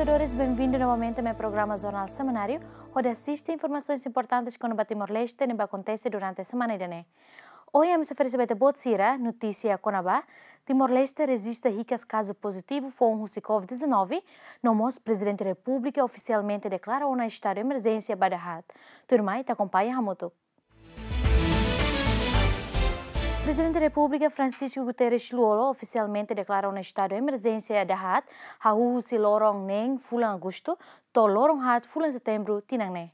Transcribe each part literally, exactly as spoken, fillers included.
Telespetadores, benvindu novamente mai programa Jornál Semanáriu, hodi asiste informasoens importantes kona-ba Timor-Leste ne'ebé akontese durante semana ida-ne'e. Ohin ami sei oferese ba ita-boot sira notísia kona-ba Timor-Leste rejista hikas kazu pozitivu foun husi covid dezanove, no mós Prezidente Repúblika ofisialmente deklara ona estadu emerjénsia ba dahaat. Tuirmai ita akompaña hamutuk. Prezidente Repúblika Francisco Guterres Lú-Olo ofisialmente deklara ona estadu emerjénsia dahaat, hahú husi loron neen fulan Agostu to'o loron haat fulan Setembru tinan ne'e.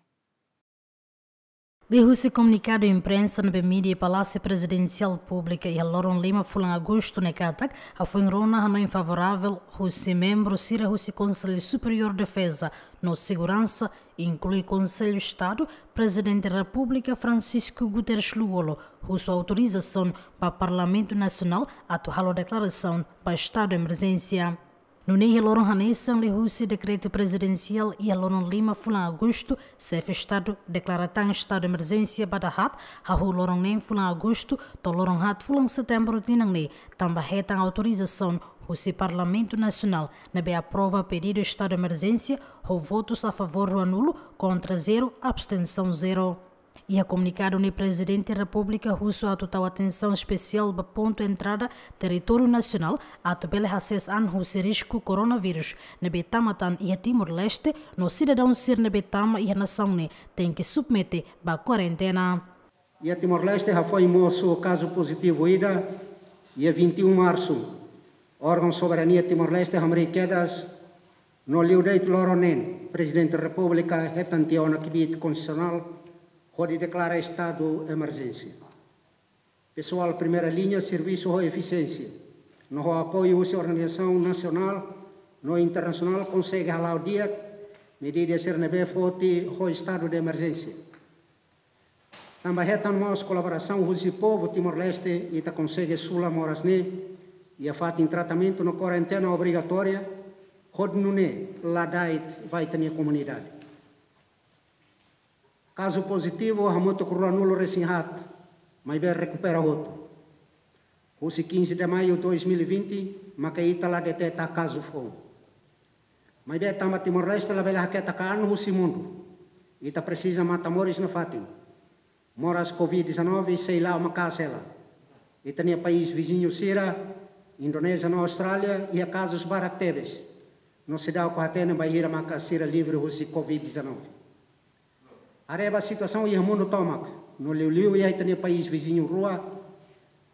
Liuhusi komunikadu imprensa ne'ebé mídia Palásiu Prezidensiál publika iha loron lima fulan Agostu ne'e katak, hafoin rona hanoin favoravel husi membru sira husi Konsellu Superiór Defeza no Seguransa, inklui Konsellu Estadu, Prezidente Repúblika Francisco Guterres Lú-Olo husu autorizasaun ba Parlamentu Nasionál atu halo deklarasaun ba estadu emerjénsia. Nune'e iha loron hanesan liuhusi dekretu prezidensiál iha loron lima fulan Agostu, Xefe Estadu deklara tan estadu emerjénsia ba dahaat, hahú loron neen fulan Agostu to'o loron haat fulan Setembru tinan ne'e, tanba hetan autorizasaun husi Parlamentu Nasionál ne'ebé aprova pedidu estadu emerjénsia ho votus a favór ruanulu, kontra zero, abstensaun zero. Iha komunikadu ne'e Prezidente Repúblika husu atu tau atensaun espesiál ba pontu entrada territóriu nasionál atu bele hasees an husi risku koronavírus ne'ebé tama tan iha Timor-Leste, no sidadaun sira ne'ebé tama iha nasaun ne'e tenke submete ba kuarentena. Iha Timor-Leste hafoin mosu kazu pozitivu ida, iha vinte e um Marsu, órgaun soberania Timor-Leste hamriik kedas, no liu de'it loron neen, Prezidente Repúblika hetan tiha ona kbiit konstitusionál hodi deklara estadu emerjénsia. Pesoál primeira liña servisu ho efisiénsia, no ho apoiu husi organizasaun nasionál no internasionál konsege hala'o di'ak medida sira ne'ebé foti ho estadu de emerjénsia. Tanba hetan mós kolaborasaun husi povu Timor-Leste, ita konsege sula moras ne'e iha fatin tratamentu no kuarentena obrigatória, hodi nune'e la da'et ba ita-nia komunidade. Kazu pozitivu hamutuk ruanulu resin haat, maibé rekupera hotu. Husi quinze de maio dois mil e vinte, maka ita la deteta kazu foun. Maibé tanba Timor-Leste labele haketak an husi mundu, ita presiza matan moris nafatin. Moras covid dezanove sei la'o maka'as hela. Ita-nia país viziñu sira, Indonézia no Austrália, iha kazus barak tebes. No seidauk hatene bainhira maka sira livre husi covid dezanove. Haree ba situasaun iha mundu tomak, no liuliu iha ita-nia país viziñu rua,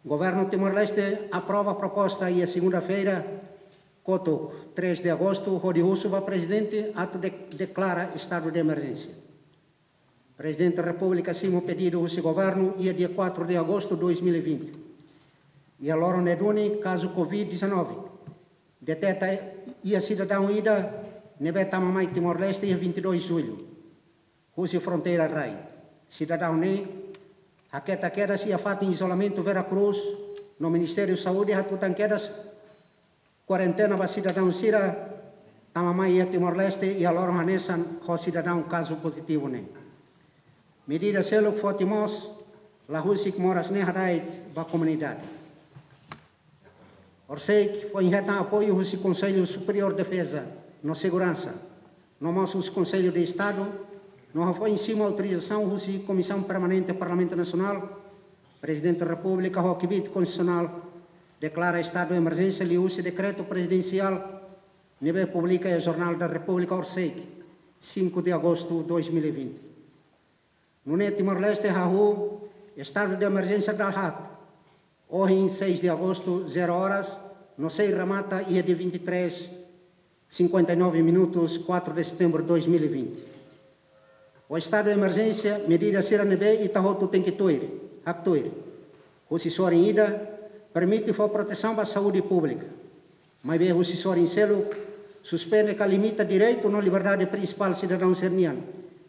Governu Timor-Leste aprova proposta iha segunda-feira, kotuk, três de Agostu, hodi husu ba Prezidente atu de-, deklara estadu de emerjénsia. Prezidente Repúblika simu pedidu husi Governu iha dia quatro de Agostu dois mil e vinte. Iha loron ne'e duni kazu covid dezanove deteta iha sidadaun ida ne'ebé tama mai Timor-Leste iha vinte e dois Jullu, husi fronteira rai. Sidadaun ne'e haketak kedas iha fatin izolamentu Vera Cruz, no Ministériu Saúde hatutan kedas kuarentena ba sidadaun sira tama mai iha Timor-Leste iha loron hanesan ho sidadaun kazu pozitivu ne'e. Medida seluk foti mós la husik moras ne'e hada'et ba komunidade. Orsida foin hetan apoiu husi Konsellu Superiór Defeza no Seguransa, no mós husi Konsellu de Estadu, no hafoin simu autorizasaun husi Komisaun Permanente Parlamentu Nasionál, Prezidente Repúblika ho kbiit konstitusionál deklara estadu emerjénsia liuhusi dekretu prezidensiál ne'ebé publika iha Jornál da Repúblika orsida, cinco de Agosto dois mil e vinte. Nune'e Timor-Leste hahú estadu de emerjénsia dahaat, ohin seis de Agosto, zero horas, no sei remata iha dia vinte e três, cinquenta e nove minutos, quatro de Setembro dois mil e vinte. Ho estadu de emerjénsia, medida sira ne'ebé ita hotu tenke tuir, haktuir. Husi sorin ida, permite fó protesaun ba saúde públika. Maibé husi sorin seluk, suspende ka limita direitu no liberdade prinsipál sidadaun sira-nian,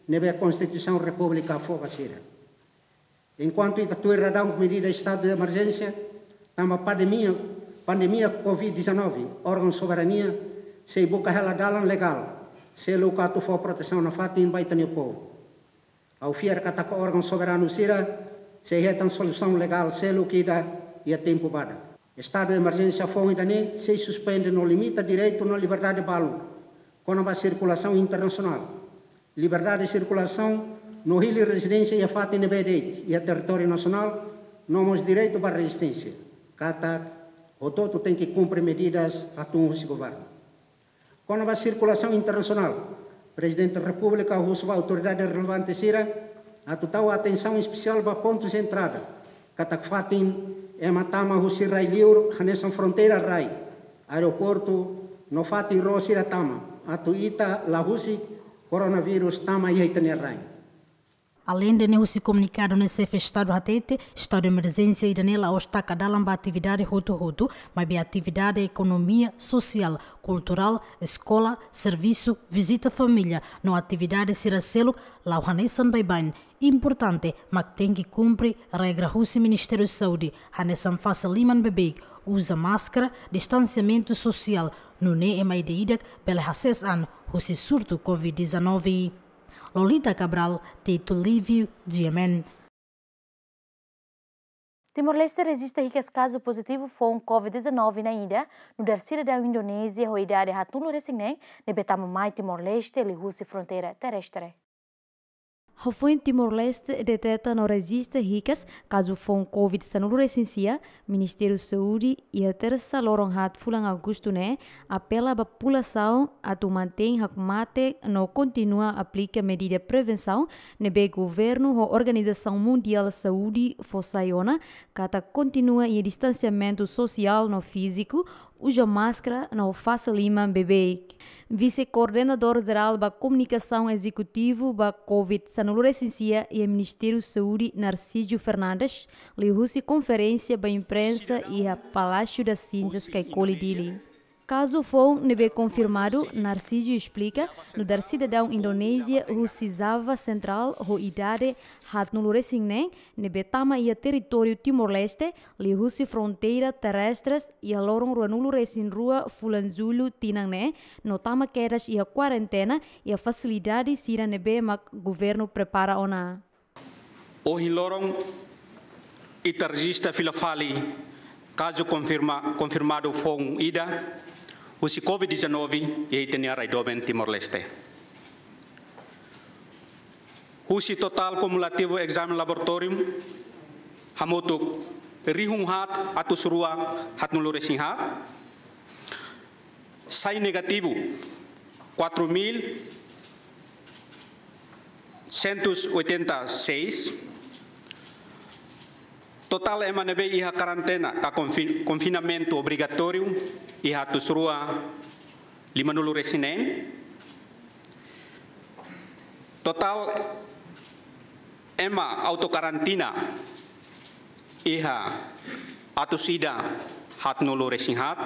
ne'ebé Konstituisaun Repúblika fó ba sira. Enkuantu ita tuir daudaun medida estadu de emerjénsia, tanba pandemia, pandemia covid dezanove, órgaun soberania sei buka hela dalan legál seluk atu fó protesaun nafatin ba ita-nia povu. Ha'u fiar katak órgaun soberanu sira sei hetan solusaun legál seluk ida iha tempu badak. Estadu de emerjénsia foun ida-ne'e sei suspende no limita direitu no liberdade balu Kona-ba sirkulasaun internasionál, liberdade de sirkulasaun no hili rezidénsia iha fatin ne'ebé de'it iha territóriu nasionál, no mós direitu ba rezisténsia, katak hotu-hotu tenke kumpre medidas hatún husi governu. Kona-ba sirkulasaun internasionál, Prezidente Repúblika husu ba autoridade relevante sira atu tau atensaun espesiál ba pontus entrada, katak fatin ema tama husi rai-liur hanesan fronteira rai, aeroportu no fatin ró sira tama, atu ita la husik koronavírus tama iha ita-nia rain. Aleinde ne'e, husi komunikadu ne'e, xefe Estadu hatete, estadu de emerjénsia ida-ne'e la'ós taka dalan ba atividade hotu-hotu, maibé atividade ekonomia, sosiál, kulturál, eskola, servisu, vizita família no atividade sira seluk la'o hanesan baibain. Importante mak tenke kumpre regra husi Ministériu Saúde, hanesan fase liman beibeik, uza máskara, distansiamentu sosiál, nune'e ema ida-idak bele hasees an husi surtu covid dezanove. Lolita Cabral, Tito Livio, G M N. Timor-Leste rejista hikas kazu pozitivu foun covid dezanove na'in ida, nu'udar sidadaun Indonézia ho idade haatnulu resin neen, ne'ebé tama mai Timor-Leste liuhusi fronteira terrestre. Hafoin Timor-Leste deteta no rejista hikas kazu foun covid sanulu resin sia, Ministériu Saúde iha Tersa loron haat fulan Agostu ne'e apela ba populasaun atu mantein hakmatek no kontinua aplika medida prevensaun ne'ebé governu ho Organizasaun Mundiál Saúde fó sai ona, katak kontinua iha distansiamentu sosiál no fíziku, uza máskara no fase liman beibeik. Vise-Koordenadór Jerál ba Komunikasaun Ezekutivu ba covid sanulu resin sia iha Ministériu Saúde, Narcísio Fernandes, liuhusi konferénsia ba imprensa iha Palácio das Cinzas, Caicoli, Dili. Kazu foun ne'ebé konfirmadu, Narcísio esplika, nu'udar sidadaun Indonézia husi Java Sentrál ho idade haatnulu resin neen, ne'ebé tama iha territóriu Timor-Leste liuhusi fronteira terrestres iha loron ruanulu resin rua fulan Jullu tinan ne'e, no tama kedas iha kuarentena iha fasilidade sira ne'ebé mak governu prepara ona. Ohin loron ita rejista fila fali kazu konfirma-, konfirmadu foun ida husi covid dezanove iha ita-nia rai doben Timor-Leste. Husi totál kumulativu ezame laboratóriu hamutuk rihun haat atus rua haatnulu resin haat, sai negativu quatro mil cento e oitenta e seis. Totál ema ne'ebé iha karentena ka konfin-, konfinamentu obrigatóriu iha atus rua limanulu resin neen. Totál ema autokarantina iha atus ida haatnulu resin haat,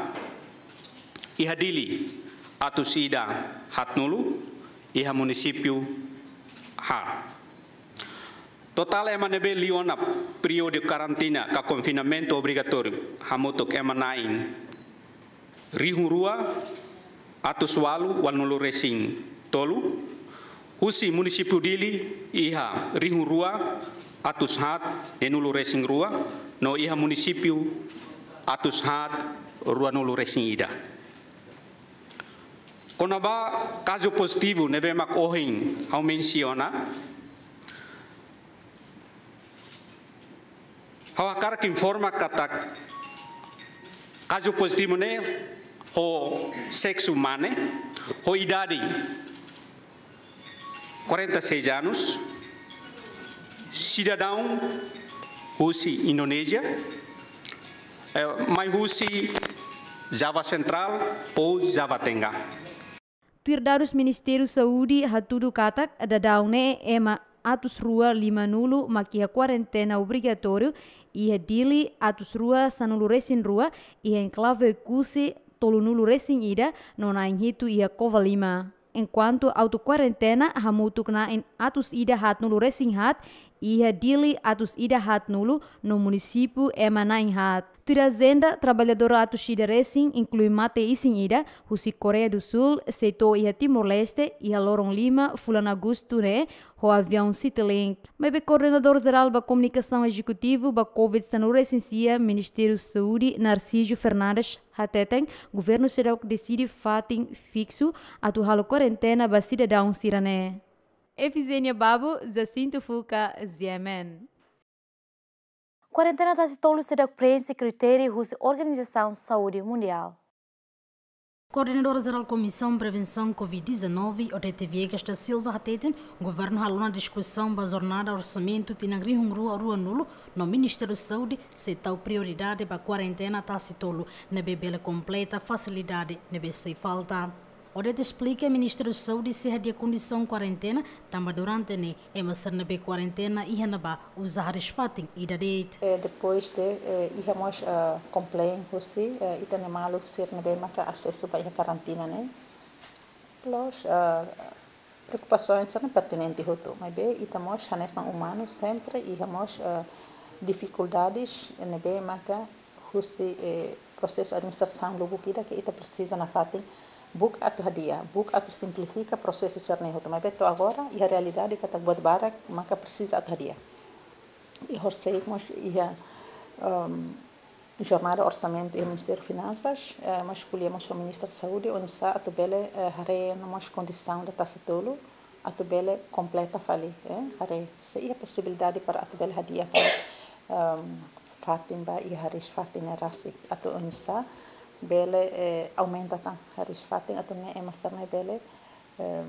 iha Dili atus ida haatnulu, iha munisípiu haat. Totál ema ne'ebé liu ona períodu karantina ka konfinamentu obrigatóriu hamutuk ema na'in rihun rua atus ualu ualunulu resin tolu, husi munisípiu Dili iha rihun rua atus haat neenulu resin rua, no iha munisípiu atus haat ruanulu resin ida. Kona-ba kazu pozitivu ne'ebé mak ohin ha'u mensiona, ha'u hakarak informa katak kazu pozitivu ne'e ho seksu mane, ho idade quarenta e seis anos, sidadaun husi Indonézia, eh, mai husi Java Sentrál ou Java Tengah. Tuir dadus Ministériu Saúde hatudu katak daudaun ne'e ema atus rua limanulu mak iha kuarentena obrigatóriu, iha Dili atus rua sanulu resin rua, iha enklave Oekusi tolunulu resin ida, no na'in hitu iha Covalima. Enkuantu autokuarentena hamutuk na'in atus ida haatnulu resin haat, iha Dili atus ida haat nulu no munisípiu ema na'in haat. Tuir ajenda, traballadór atus ida resin, inklui mate isin ida, husi Koreia do Sul, sei to'o iha Timor-Leste, iha loron lima, fulan Agostu ne'e, ho aviaun Citilink. Maibé Koordenadór Jerál ba Komunikasaun Ezekutivu ba Covid sanulu resin sia, Ministériu Saúde, Narciso Fernandes, hateten, governu seidauk deside fatin fiksu atu halo kuarentena ba sidadaun sira-ne'e. Efizénia Babo, Jacinto Fuca, G M N. Kuarentena tasi tolu seidauk preenxe kritériu husi Organizasaun Saúde Mundiál. Koordenadór Jerál Komisaun Prevensaun Covid dezanove, Odete Viegas da Silva hateten, governu halo ona diskusaun ba jornada orsamentu tinan rihun rua rua nulu, no Ministériu Saúde sei tau prioridade ba kuarentena tasi tolu, ne'ebé bele kompleta fasilidade ne'ebé sei falta. Odete esplika, Ministériu Saúde sei hadi'a kondisaun kuarentena, tanba durante ne'e ema sira ne'ebé kuarentena iha ne'ebá uza hariis-fatin ida de'it. Eh, depois de, eh, iha mós, eh, complain husi, eh, ita-nia maluk sira ne'ebé maka asesu ba iha karantina ne'e. Plus, eh, preokupasaun sira-ne'e pertinente hotu, maibé ita mós hanesan umanu sempre iha mós, eh, difikuldades ne'ebé maka husi, eh, prosesu administrasaun lubuk ida ke ita presiza nafatin buka atu hadi'a, buka atu simplifika prosesu sira-ne'e hotu. Maibé to'o agora, iha realidade katak buat barak maka presiza atu hadi'a. I horisehik mós iha, ehm, jornada orsamentu iha Ministériu Finansas, eh, mós ko'alia mós ho Ministra Saúde, oinsá atu bele, eh, haree ona mós kondisaun ida tasi tolu, atu bele kompleta fali, eh, haree se iha posibilidade para atu bele hadi'a fali, ehm, fatin ba iha hariis-fatin ne'e rasik, atu oinsá bele, eh, aumenta tan hariis-fatin atu nune'e ema sira-ne'e bele, ehm,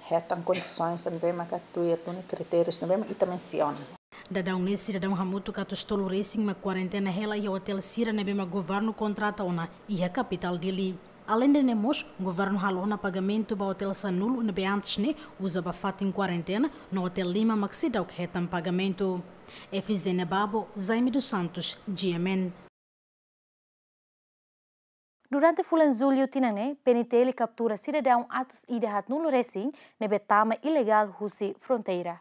hetan kondisaun sira ne'ebé maka tuir duni kritériu ne'ebé mak ita mensiona. Daudaun ne'e sidadaun hamutuk atus tolu resin mak kuarentena hela iha otél sira ne'ebé mak governu kontrata ona iha kapitál Dili. Aleinde ne'e mós, governu halo ona pagamentu ba otél sanulu ne'ebé antes ne'e uza ba fatin kuarentena, no otél lima mak seidauk hetan pagamentu. Efizénia Babo, Jaime dos Santos, G M N. Durante fulan Jullu tinan ne'e, P N T L kaptura sidadaun atus ida haat nulu resin ne'ebé tama ilegál husi fronteira.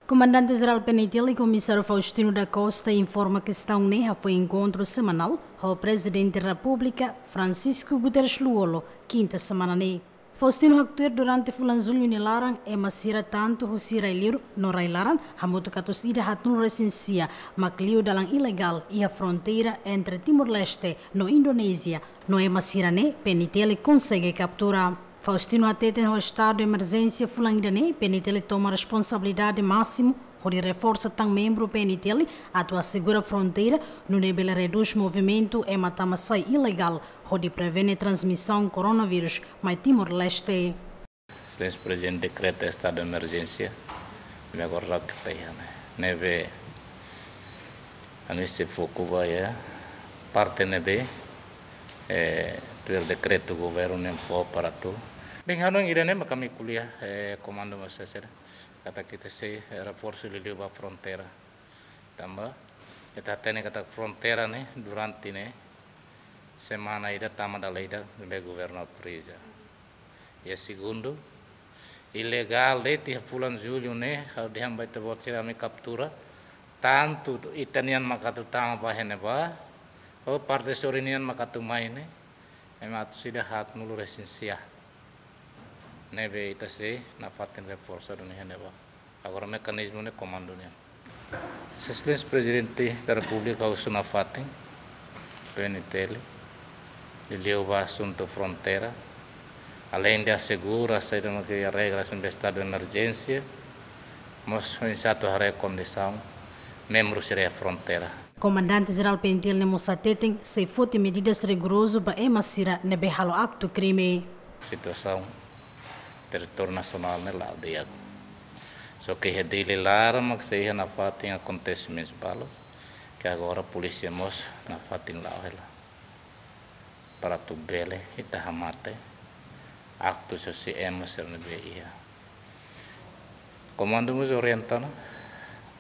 Komandante Jerál P N T L, Komisáriu Faustino da Costa, informa kestaun ne'e hafoin enkontru semanál ho Prezidente Repúblika, Francisco Guterres Lú-Olo, kinta semana ne'e. Faustino haktuir, durante fulan Jullu nia laran, ema sira tantu husi rai-liur no rai-laran, hamutuk atus ida haat nulu resin sia, mak liu dalan ilegál iha fronteira entre Timor-Leste no Indonézia, no ema sira-ne'e P N T L konsege kaptura. Faustino hateten, ho estadu emerjénsia fulan ida-ne'e, P N T L toma responsabilidade másimu hodi reforsa tan membru P N T L atu asegura fronteira, nune'e bele redús movimentu ema tama-sai ilegál, hodi prevene transmisaun koronavírus mai Timor-Leste. Exelénsia Prezidente dekreta estadu de emerjénsia, ne'e agora la'o ke taiha ne'e. Ne'ebé ami sei foku ba iha parte ne'ebé, eh, tuir dekretu governu ne'e fó para atu. Bem, hanoin ida-ne'e mak ami ko'alia, eh, komandu mós sira. Katak ita sei, eh, reforsu liuliu ba fronteira. Tanba ita hatene katak fronteira ne'e durante ne'e semana ida tama dala ida ne'ebé governu autoriza. I segundu, ilegál de'it iha fulan Jullu ne'e, ha'u dehan ba ita-boot sira, ami kaptura tantu ita-nian mak atu tama ba iha ne'ebá, ou parte sorin nian mak atu mai ne'e, ema atus ida haat nulu resin sia. Ne'ebé ita sei nafatin reforsa duni iha ne'ebá. Agora mekanizmu ne'e komandu nian. Exelénsia Prezidente da Repúblika husu nafatin P N T L, liuliu ba asuntu fronteira, aleinde asegura saida mak iha regras ne'ebé estadu de emerjénsia, mós oinsá atu haree kondisaun membru sira iha fronteira. Komandante Jerál P N T L ne'e mós hateten, sei foti medidas rigorozu ba ema sira ne'ebé halo aktu krime. Situasaun territóriu nasionál ne'e la'o di'ak. Só ke iha Dili laran mak sei iha nafatin akontesimentu balu, ke agora polísia mós nafatin la'o hela. Para atu bele ita hamate aktu husi ema sira ne'ebé iha. Komandu mós orienta ona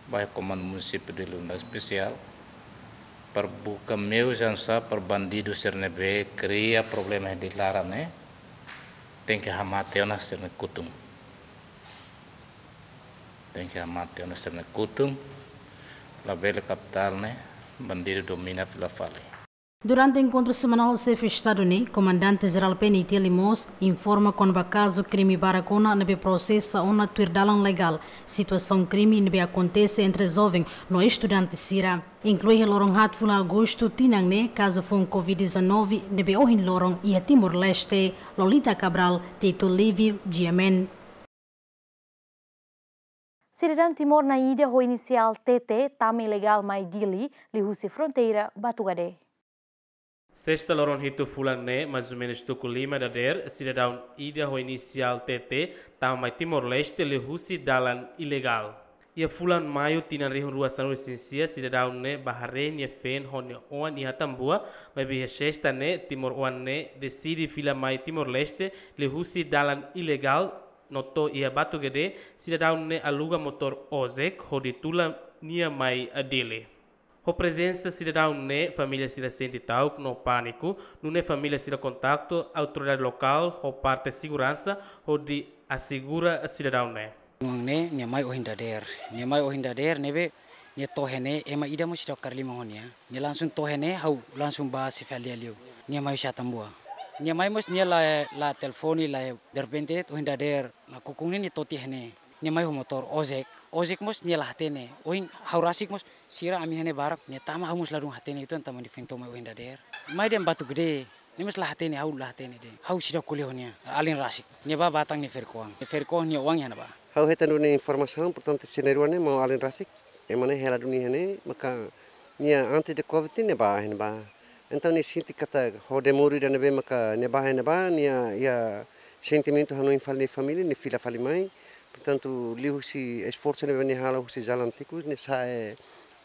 ba Komandu Munisípiu Dili nu'udar espesiál para buka meius oinsá para bandidu sira ne'ebé kria problema iha Dili laran ne'e, tenke hamate ona sira-nia kutun. Tenke hamate ona sira-nia kutun, labele kapitál ne'e bandidu domina fila fali. Durante enkontru semanál xefe Estadu ne'e, Komandante Jerál P N I T L mós informa kona-ba kazu krime barak ona ne'ebé prosesa ona tuir dalan legál, situasaun krime ne'ebé akontese entre joven no estudante sira. Inklui iha loron haat fulan Agostu tinan ne'e kazu foun covid dezanove ne'ebé ohin loron iha Timor-Leste. Lolita Cabral, Tito Livio, G M N. Sidadaun Timor nia ida ho inisiál T T tama ilegál mai Dili, liuhusi fronteira Batugade. Sesta loron hitu fulan ne'e, mais ou menus tuku lima dadeer, sidadaun ida ho inisiál T T tama mai Timor-Leste liuhusi dalan ilegál. Iha fulan Maiu tinan rihun rua sanulu-resin-sia, sidadaun ne'e bá haree nia feen ho nia oan iha Atambua, maibé iha sesta ne'e timoroan ne'e deside fila mai Timor-Leste liuhusi dalan ilegál, no to'o iha Batugade, sidadaun ne'e aluga motór ojek hodi tula nia mai Dili. Ho prezensa sidadaun ne'e, família sira sente ta'uk no pániku, nune'e família sira kontaktu autoridade lokál ho parte seguransa hodi asegura sidadaun ne'e. Oan ne'e, nia mai ohin dadeer. Nia mai ohin dadeer, ne'ebé nia to'o iha ne'e, ema ida mós seidauk kaer liman ho nia. Nia langsung to'o iha ne'e, ha'u langsung bá xefe aldeia liu. Nia mai husi Atambua. Nia mai mós nia la, la telefone, la, derrepente, ohin dadeer, nakukun ne'e nia to'o tiha iha ne'e. Nia mai ho motór ojek. Ojek mós nia la hatene. Ohin ha'u rasik mós sira ami iha ne'e barak. Nia tama ha'u mós ladún hatene uitoan tanba nia foin to'o mai ohin dadeer. Mai dehan Batugade. Nia mós la hatene, ha'u la hatene de'it. Ha'u seidauk ko'alia ho nia. Alin rasik. Nia bá, bá tan nia ferik-oan. Nia ferik-oan nia oan iha ne'ebá. Ha'u hetan duni informasaun, portantu, sira na'in-rua ne'e mak alin rasik. Ema ne'e hela duni iha ne'e, maka nia antes de covid ne'e bá iha ne'ebá. Entaun nia sente katak ho demoru ida ne'ebé maka nia bá iha ne'ebá, nia iha sentimentu hanoin fali nia família, nia fila fali mai. Portantu, liuhusi esforsu ne'ebé nia halo husi Jalan Tikus, nia sa'e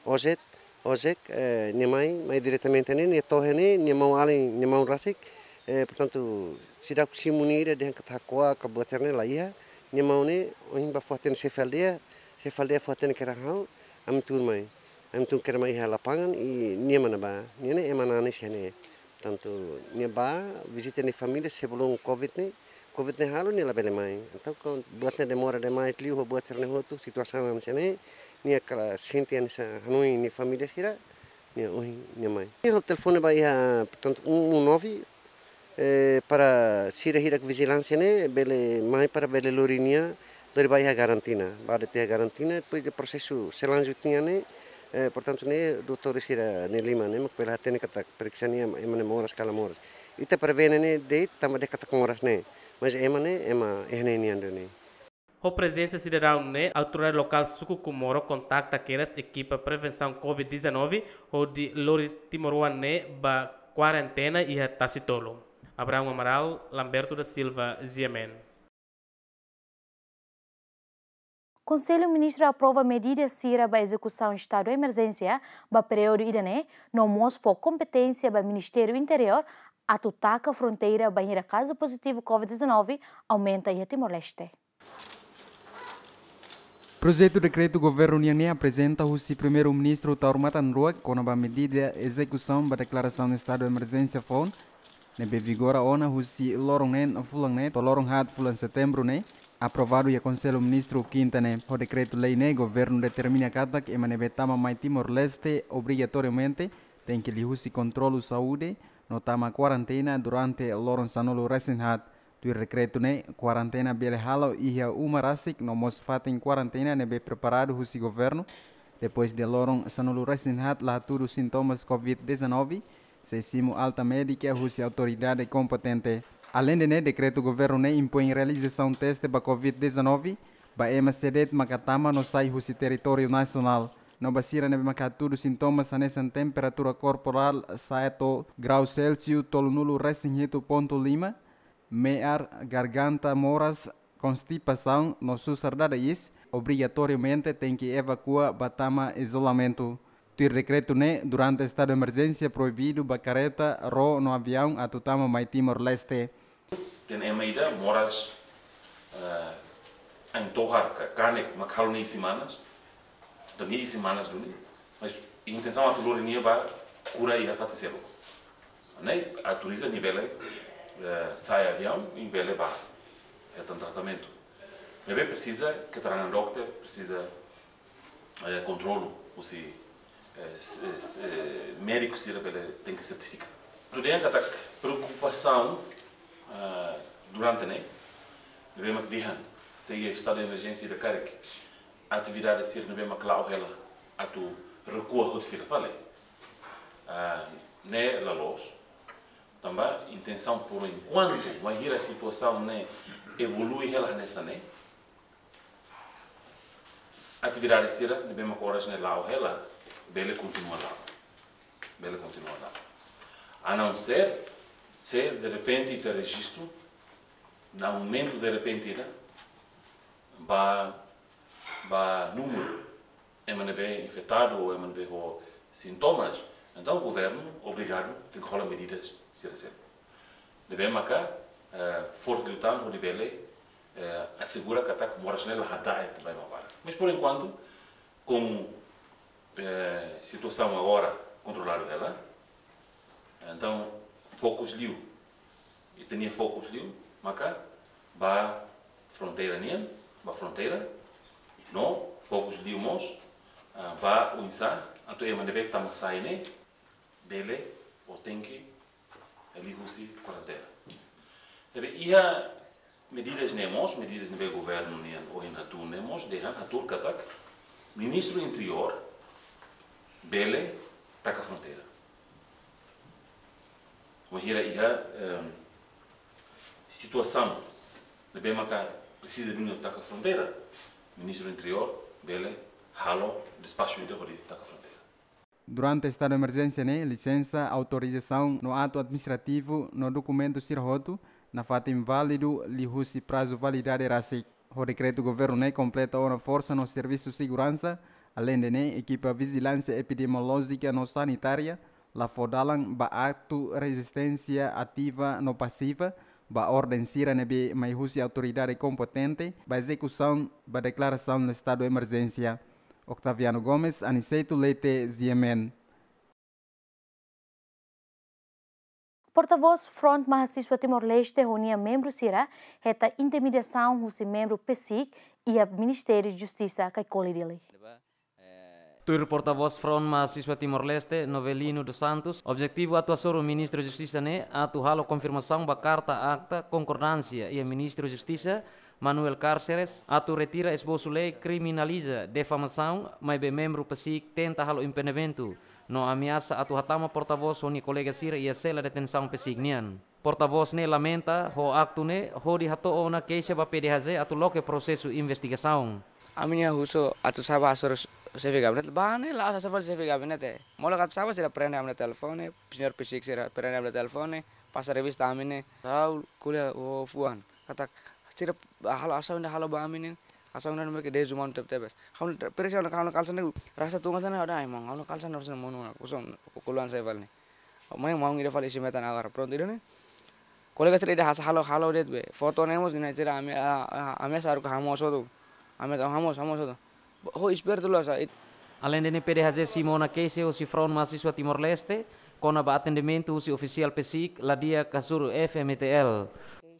ojek, ojek, eh, nia mai, mai diretamente ne'e, nia to'o iha ne'e, nia maun-alin, nia maun rasik, eh, portantu, seidauk simu nia ida dehan katak hako'ak ka buat sira-ne'e la iha, nia maun ne'e, ohin bá fó-hatene xefe aldeia, xefe aldeia fó-hatene kedas ha'u, ami tun mai. Ami tun kedas mai iha lapangan, i nia mak ne'ebá, nia ne'e ema nanis iha ne'e. Portantu, nia bá vizita nia família sebelum covid ne'e, covid ne'e halo nia labele mai. Entaun, kuandu buat ne'e demora demais, liu ho buat sira-ne'e hotu, situasaun hanesan ne'e, nia kala sente hanesan hanoin nia família sira, nia ohin nia mai. Nia halo telefone ba iha, portantu, um um nove, eh, para sira hirak vijilánsia ne'e, bele mai para bele lori nia, lori ba iha karantina. Bá de'it iha karantina, depois de prosesu selanjutnya ne'e, eh, portantu ne'e, doutór sira-nia liman ne'e, mak bele hatene katak periksa nia ema ne'e moras ka la moras. Ita prevene ne'e de'it tanba dehan katak moras ne'e. Mas ema ne'e, ema iha ne'e nian duni. Ho prezensa sidadaun ne'e, autoridade lokál suku Comoro kontakta kedas ekipa prevensaun covid dezanove, hodi lori timoroan ne'e ba kuarentena iha Tasitolu. Abraão Amaral, Lamberto da Silva, G M N. Konsellu Ministru aprova medida sira ba ezekusaun estadu emerjénsia ba períodu ida-ne'e, no mós fó kompeténsia ba Ministériu Interiór atu taka fronteira bainhira kazu pozitivu covid dezanove aumenta iha Timor-Leste. Projetu dekretu governu nian ne'e aprezenta husi Primeiru-Ministru Taur Matan Ruak kona-ba medida ezekusaun ba deklarasaun estadu emerjénsia foun, ne'ebé vigora ona husi loron neen fulan ne'e to'o loron haat fulan Setembru ne'e, aprovadu iha Konsellu Ministru kinta ne'e. Ho dekretu-lei ne'e, governu determina katak ema ne'ebé tama mai Timor-Leste obrigatoriamente tenke liuhusi kontrolu saúde no tama kuarentena durante loron sanulu-resin-haat. Tuir dekretu ne'e, kuarentena bele halo iha uma rasik no mós fatin kuarentena ne'ebé preparadu husi governu. Depois de loron sanulu-resin-haat la hatudu sintomas covid dezanove, sei simu alta médika husi autoridade kompetente. Aleinde ne'e, dekretu governu ne'e impoin realizasaun teste ba covid dezanove ba ema sé de'it maka tama no sai husi territóriu nasionál. No ba sira ne'ebé maka hatudu sintomas hanesan temperatura korporál sa'e to'o grau Celsius tolunulu-resin-hitu pontu lima, me'ar, garganta moras, konstipasaun no susar dada iis, obrigatoriamente tenke evakua ba tama izolamentu. Tuir dekretu ne'e, durante estadu emerjénsia proibidu ba kareta, ró no aviaun atu tama mai Timor-Leste. Dehan ema ida moras, eh, Ain Tohar ka Kanek, mak halo nia isin-manas, entaun nia isin-manas duni, mas intensaun atu lori nia ba kura iha fatin seluk. Ne'e autoriza nia bele, eh, sa'e aviaun, nia bele bá hetan tratamentu. Ne'ebé presiza keterangan dokter, presiza, eh, kontrolu husi, eh, s-, eh, s-, eh, médiku sira bele tenke sertifika. Tuir dehan katak preokupasaun, eh, durante ne'e, ne'ebé mak dehan, se iha estadu de emerjénsia ida karik, atividade sira ne'ebé mak la'o hela atu rekua hotu fila fali. Ah, ne'e la loos. Tanba intensaun, por enkuantu, bainhira situasaun ne'e evolui hela hanesan ne'e, atividade sira ne'ebé mak oras ne'e la'o hela, bele kontinua la'o. Bele kontinua la'o. A não ser se de repente ita rejistu, na aumento de repente ida, ba, ba númeru ema ne'ebé infetadu ou ema ne'ebé ho sintomas, entaun governu obrigadu tenke hola medidas sira seluk. Ne'ebé maka, eh, forte liután hodi bele, eh, asegura katak moras ne'e la hada'et ba ema barak. Mas por enkuantu, komu, eh, situasaun agora kontroladu hela, entaun fokus liu, ita-nia fokus liu maka ba fronteira nian, ba fronteira, no fokus liu mós, ah, ba oinsá atu ema ne'ebé tama sai ne'e bele ou tenke liu husi kuarentena. Ne'ebé iha medidas ne'e mós, medidas ne'ebé governu nian ohin hatuur ne'e mós, dehan hatuur katak Ministru Interiór bele taka fronteira. Bainhira iha, em, situasaun ne'ebé maka presiza duni taka fronteira, Ministru Interiór bele halo despaxu ida hodi taka fronteira. Durante estadu de emerjénsia ne'e, lisensa, autorizasaun no atu administrativu no dokumentu sira hotu nafatin válidu liuhusi prazu validade rasik. Ho dekretu governu ne'e kompleta ona forsa no servisu seguransa, aleinde ne'e ekipa vijilánsia epidemiolójika no sanitária la fó dalan ba aktu rezisténsia ativa no pasiva ba orden sira ne'ebé mai husi autoridade kompetente ba ezekusaun ba deklarasaun estadu emerjénsia. Octaviano Gomes, Aniceto Leite, G M N. Portavós Front Mahasiswa Timor-Leste ho nia membru sira hetan intimidasaun husi membru PCIC iha Ministériu Justisa Caicoli, Dili. Tuir portavós Front Mahasiswa Timor-Leste, Novelino dos Santos, objetivu atu hasoru Ministru Justisa ne'e atu halo konfirmasaun ba karta akta konkordánsia iha Ministru Justisa, Manuel Cárceres, atu retira esbosu lei kriminaliza difamasaun, maibé membru PCIC tenta halo impedimentu no ameasa atu hatama portavós ho nia kolega sira iha sela detensaun PCIC nian. Portavós ne'e lamenta ho aktu ne'e hodi hato'o ona keixa ba PDHJ atu loke prosesu investigasaun. Ami-nia husu atu sá bá hasoru xefe gabinete, bá ne'e la'o hasoru xefe gabinete. Molok atu sá bá sira prende ami-nia telefone, señór PCIC sira prende ami-nia telefone, pasa revista ami ne'e, ha'u ko'alia ho fuan. Katak sira halo asaun ida halo ba ami ne'e, asaun ida mereka dezumanu tebetebes. Ha'u presiona, ha'u-nia kalsa ne'e rasa tunga sana, ada emang, ha'u-nia kalsa ne'e rasa monu, kosong, kuluan saya balik. Mai maun ida fali isi metan agora. Prontu ida ne'e. Kolega sira ida hasa'e halo, halo de'it be. Foto ne'e mós ne'e sira ami, a, a, ami saru ka hamoos hotu. Ami ta hamoos, hamoos hotu. Ho espertu loos sa. Aleinde ne'e PDHJ simu ona keixa husi Front Mahasiswa Timor-Leste, kona-ba atendimentu husi ofisiál PCIC la di'ak hasoru FMTL.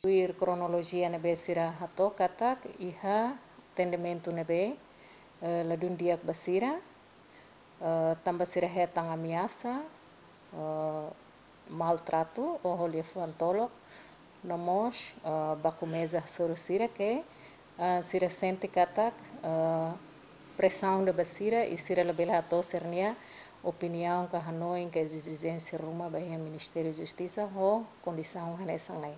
Tuir kronolojia ne'ebé sira hato'o katak iha atendimentu ne'ebé, eh, ladún di'ak ba sira, eh, tanba sira hetan ameasa, eh, maltratu ou ho liafuan tolok, no mós, eh, baku meza hasoru sira ke, eh, sira sente katak, eh, presaun ida ba sira i sira labele hato'o sira-nia opiniaun ka hanoin ka ezijénsia ruma ba iha Ministériu Justisa ho kondisaun hanesan ne'e.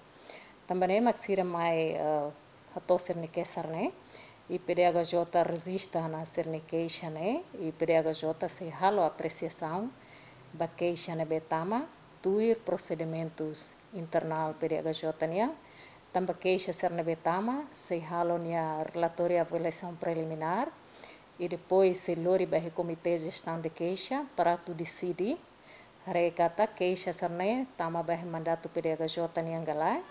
Tanba ne'e mak sira mai, eh, hato'o sira-nia kesar ne'e, i PDHJ rejista ona sira-nia keixa ne'e, i PDHJ sei halo apresiasaun ba keixa ne'ebé tama, tuir prosedimentus internál PDHJ nian, tanba keixa sira ne'ebé tama, sei halo nia relatóriu avaliasaun preliminár, i depois sei lori ba iha Komité Jestaun de Keixa para atu deside, haree katak keixa sira-ne'e tama ba iha mandatu PDHJ nian ka lae,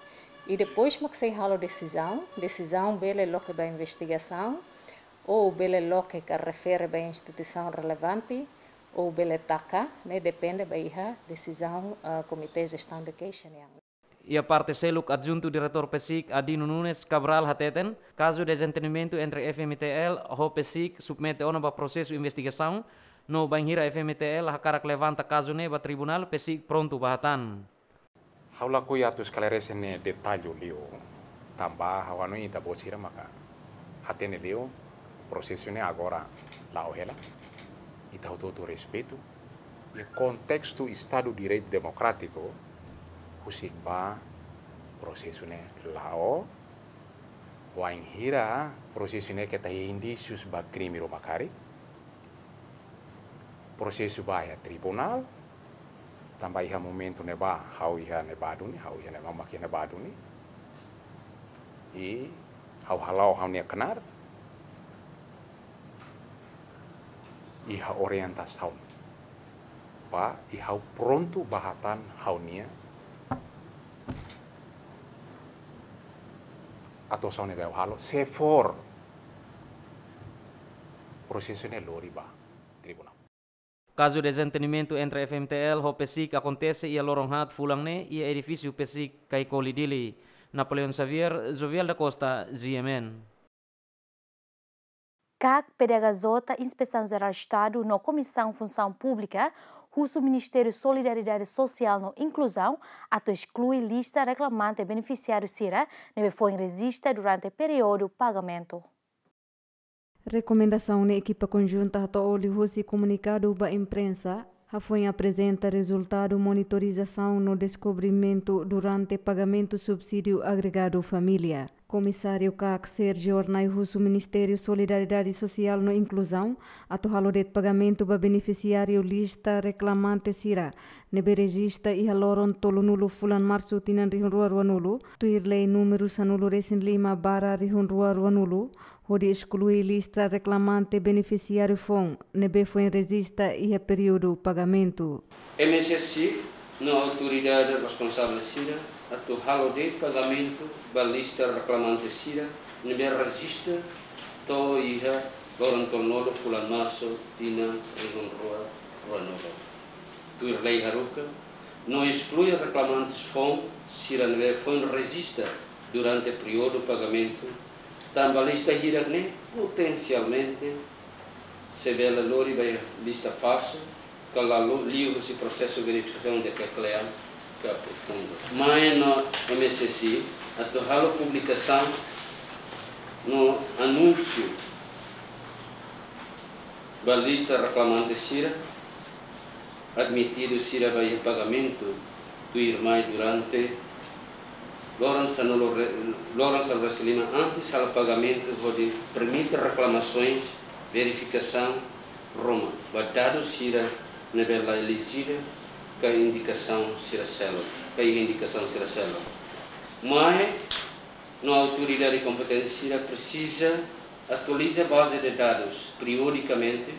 i depois mak sei halo desizaun, desizaun bele loke ba investigasaun, ou bele loke ka refere ba instituisaun relevante, ou bele taka, ne'e depende ba iha desizaun, ah, Komité Jestaun de Keixa nian. Iha parte seluk, Adjuntu Diretór PCIC, Adino Nunes Cabral, hateten, kazu dezentendimentu entre F M T L ho PCIC submete ona ba prosesu investigasaun, no bainhira F M T L hakarak levanta kazu ne'e ba tribunál, PCIC prontu ba hatán. Ha'u lakohi atu esklarese ne'e detallu liu, tanba ha'u hanoin ita-boot sira maka hatene liu, prosesu ne'e agora la'o hela. Ita hotu-hotu respeitu. Iha kontestu Estadu Direitu Demokrátiku, husik ba prosesu ne'e la'o, wainhira prosesu ne'e keta iha indísius ba krime ruma karik, prosesu ba iha tribunál, tanba iha momentu ne'ebá, ha'u iha ne'ebá duni, ha'u iha ne'ebá, mak iha ne'ebá duni. I ha'u hala'o ha'u-nia knaar iha orientasaun ba, i ha'u prontu ba hatán ha'u-nia atuasaun ne'ebé ha'u halo, se for prosesu ne'e lori ba tribunál. Kazu dezentendimentu entre F M T L ho PCIC akontese iha loron haat fulan ne'e iha edifísiu PCIC Caicoli, Dili. Napoleão Xavier, Jovial da Costa, G M N. CAC, PDHJ, Inspesaun Jerál Estadu no Komisaun Funsaun Públika husu Ministériu Solidariedade Sosiál no Inkluzaun atu esklui lista reklamante benefisiáriu sira ne'ebé foin rejista durante períodu pagamentu. Rekomendasaun ne'e ekipa konjunta hato'o liuhusi komunikadu ba imprensa, hafoin aprezenta rezultadu monitorizasaun no deskobrimentu durante pagamentu subsídiu agregadu família. Komisáriu CAC, Sérgio Hornai, husu Ministériu Solidariedade Sosiál no Inkluzaun atu halo de'it pagamentu ba benefisiáriu lista reklamante sira ne'ebé rejista iha loron tolunulu fulan Marsu tinan rihun rua ruanulu, tuir lei númeru sanulu-resin-lima barra rihun rua ruanulu, hodi esklui lista reklamante benefisiáriu foun ne'ebé foin rejista iha períodu pagamentu. M S S I no autoridade responsavel sira atu halo de'it pagamentu ba lista reklamante sira ne'ebé rejista to'o iha loron tolunulu fulan Marsu tinan rihun rua ruanulu. Tuir lei haruka, no esklui reklamantes foun sira ne'ebé foin rejista durante períodu pagamentu, tanba lista hirak ne'e potensialmente sei bele lori ba lista falsu, ka la lo-, liuhusi prosesu verifikasaun ne'ebé kle'an ka profundu. Mai no M S S I atu halo publikasaun no anúnsiu ba lista reklamante sira, admitidu sira ba iha pagamentu tuirmai durante loron sanulu re-, loron sanulu-resin-lima antes halo pagamentu hodi permite reklamasoens, verifikasaun ruma ba dadus sira ne'ebé la elejivel ka indikasaun sira seluk, ka iha indikasaun sira seluk. Mai no autoridade kompetente sira presiza atualiza baze de dadus periodikamente,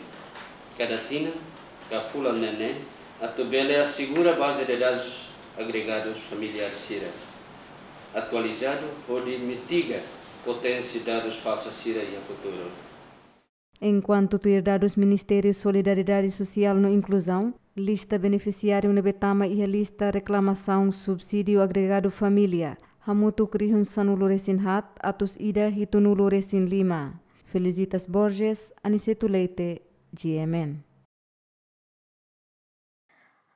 kada tinan ka fulan neineik, atu bele asegura baze de dadus agregadus familiár sira atualizadu hodi mitiga potensiál dadus falsu sira iha futuru. Enkuantu tuir dadus Ministériu Solidariedade Sosiál no Inkluzaun, lista benefisiáriu ne'ebé tama iha lista reklamasaun subsídiu agregadu família hamutuk rihun sanulu-resin-haat atus ida hitunulu-resin-lima. Felicitas Borges, Aniceto Leite, G M N.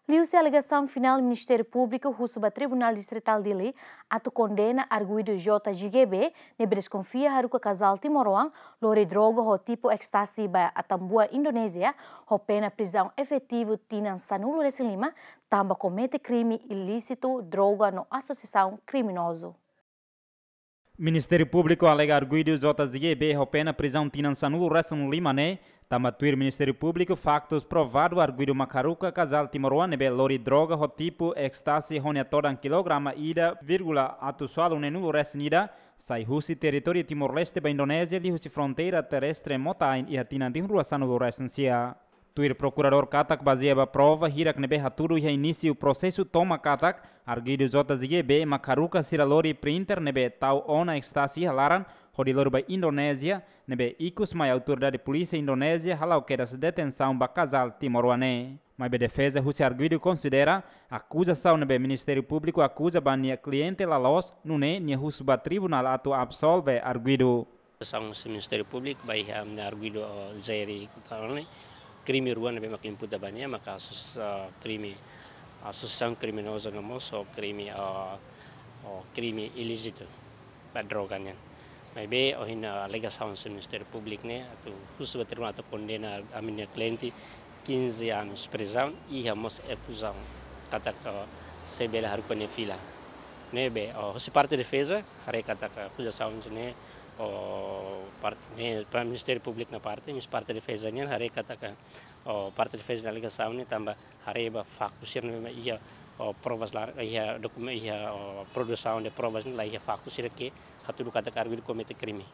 Liuhusi alegasaun finál, Ministériu Públiku husu ba Tribunál Distritál Dili atu kondena arguidu J G B ne'ebé deskonfia haruka kazál timoroan lori droga ho tipu ekstasi ba Atambua, Indonézia, ho pena prizaun efetivu tinan sanulu-resin-lima, tanba komete krime ilísitu droga no asosiasaun kriminozu. Ministériu Públiku alega arguidu J G B ho pena prizaun tinan sanulu-resin-lima ne'e, tanba tuir Ministériu Públiku faktus provadu arguidu mak haruka kazál timoroan ne'ebé lori droga ho tipu ekstasi ho nia todan kilograma ida vírgula atus ualu neenulu-resin-ida, sai husi territóriu Timor-Leste ba Indonézia liuhusi fronteira terrestre Mota Ain iha tinan rihun rua sanulu-resin-sia. Tuir prokuradór katak bazeia ba prova hirak ne'ebé hatudu iha inísiu prosesu tomak katak, arguidu J G B mak haruka sira lori printer ne'ebé tau ona ekstasi iha laran, hodi lori ba Indonézia, ne'ebé ikus mai autoridade polísia Indonézia hala'o kedas detensaun ba kazál timoroan ne'e. Maibé defeza husi arguidu konsidera akuzasaun ne'ebé Ministériu Públiku akuza ba nia kliente la loos, nune'e nia husu ba tribunál atu absolve arguidu. Acusação husi Ministériu Públiku ba iha, ah, arguidu, ah, jeri kutane krime rua ne'ebé mak imputa ba nia, maka asus-, ah, krime asosiasaun kriminoza no mós ho krime, ah, ho krime ilísitu ba droga nian. Maibé ohin, ah, alegasaun husi Ministériu Públiku ne'e atu husu ba tribunál atu kondena ami-nia kliente quinze anos prizaun, iha mós ekuzaun katak, ah, sei bele haruka nia fila. Ne'ebé, ah, husi parte defeza haree katak akuzasaun ne'e, ah, parte ne'e, ba Ministériu Públiku nia parte, mas parte defeza nian haree katak, ah, parte defeza nia alegasaun ne'e tanba haree ba faktu sira ne'ebé iha, ah, provas la, iha dokumen, iha, ah, produsaun de provas ne'e la iha faktu sira ke hatudu katak arguidu komete krime.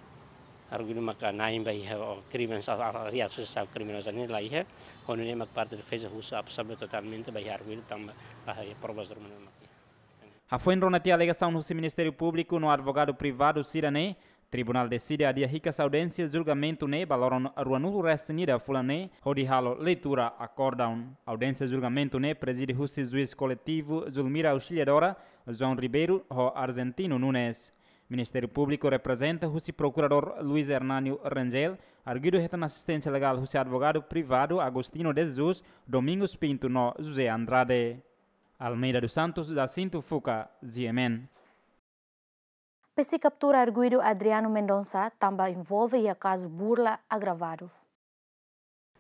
Arguidu maka na'in ba iha, ah, krime sa, ah, reasaun kriminoza ne'e la iha, ho nune'e mak parte defeza husu absolve totalmente ba iha arguidu tanba la iha provas ruma ne'e mak iha. Hafoin rona tiha alegasaun husi Ministériu Públiku no advogadu privadu sira-ne'e, tribunál deside adia hikas audiénsia julgamentu ne'e ba loron ruanulu-resin-ida fulan ne'e, hodi halo leitura akórdon. Audiénsia julgamentu ne'e prezide husi juís koletivu Zulmira Auxiliadora, João Ribeiro ho Argentino Nunes. Ministériu Públiku reprezenta husi prokuradór Luis Hernanio Rengel, arguidu hetan asisténsia legál husi advogadu privadu Agostinho de Jesus, Domingos Pinto no José Andrade. Almeida dos Santos, Jacinto Fuca, G M N. PCIC kaptura arguidu Adriano Mendonça, tanba envolve iha kazu burla agravadu.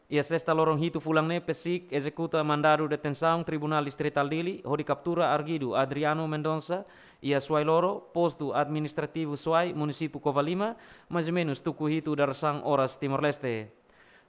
Iha sesta loron hitu fulan ne'e, PCIC ezekuta mandadu detensaun Tribunál Distritál Dili, hodi kaptura arguidu Adriano Mendonça, iha Suai Loro, Postu Administrativu Suai, Munisípiu Covalima, mais ou menos tuku hitu dadeer-saan oras Timor-Leste.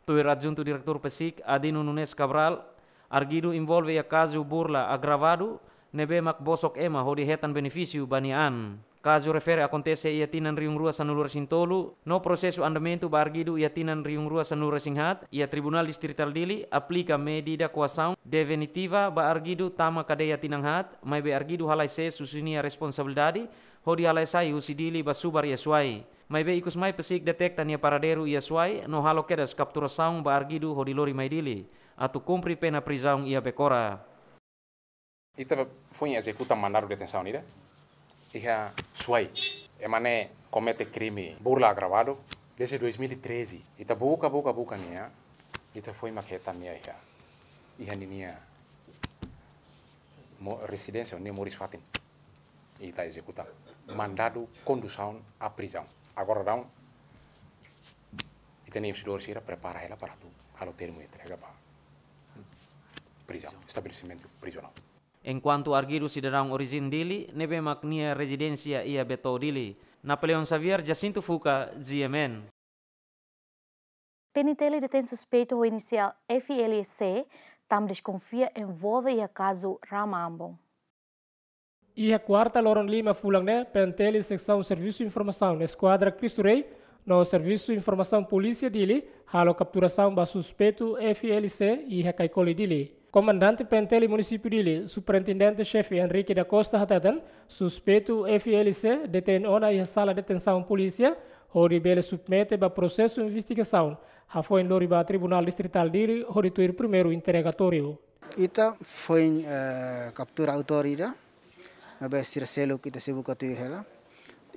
Tuir Adjuntu Diretór PCIC, Adino Nunes Cabral, arguidu envolve iha kazu burla agravadu, ne'ebé mak bosok ema hodi hetan benefísiu ba nia an. Kazu refere akontese iha tinan rihun rua sanulu-resin-tolu, no prosesu andamentu ba arguidu iha tinan rihun rua sanulu-resin-haat, iha Tribunál Distritál Dili aplika medida koasaun definitiva ba arguidu tama kadeia tinan haat, maibé arguidu halai sees husi nia responsabilidade, hodi halai sai husi Dili ba subar iha Suai. Maibé ikus mai PCIC deteta nia paradeiru iha Suai, no halo kedas kapturasaun ba arguidu hodi lori mai Dili, atu kumpre pena prizaun iha Becora. Ita foin ezekuta mandadu detensaun ida iha Suai. Ema ne'e komete krime burla agravadu desde dois mil e treze. Ita buka, buka, buka nia, ita foin mak hetan nia iha, iha ninia mo-, rezidénsia, nia moris fatin. Ita ezekuta mandadu kondusaun à prisão. Agora daudaun ita-nia investigadór sira prepara hela para atu halo termu entrega ba prizaun, estabelesimentu prizionál. Enkuantu arguidu sidadaun orijen Dili, ne'ebé mak nia rezidénsia iha Beto Dili. Napoleão Xavier, Jacinto Fuca, G M N. PNTL detein suspeitu ho inisiál F L C, tanba deskonfia envolve iha kazu rama ambon. Iha kuarta loron lima fulan ne'e, PNTL Seksaun Servisu Informasaun Eskuadra Cristo Rei no Servisu Informasaun Polísia Dili halo kapturasaun ba suspeitu F L C iha Caicoli Dili. Komandante PNTL Munisípiu Dili, Superintendente Xefe Henrique da Costa hateten, suspeitu F L C detein ona iha sala detensaun polísia, hodi bele submete ba prosesu investigasaun, hafoin lori ba Tribunál Distritál Dili, hodi tuir primeiru interogatóriu. Ita foin, eh, kaptura autór ida, maibé sira seluk ita sei buka tuir hela.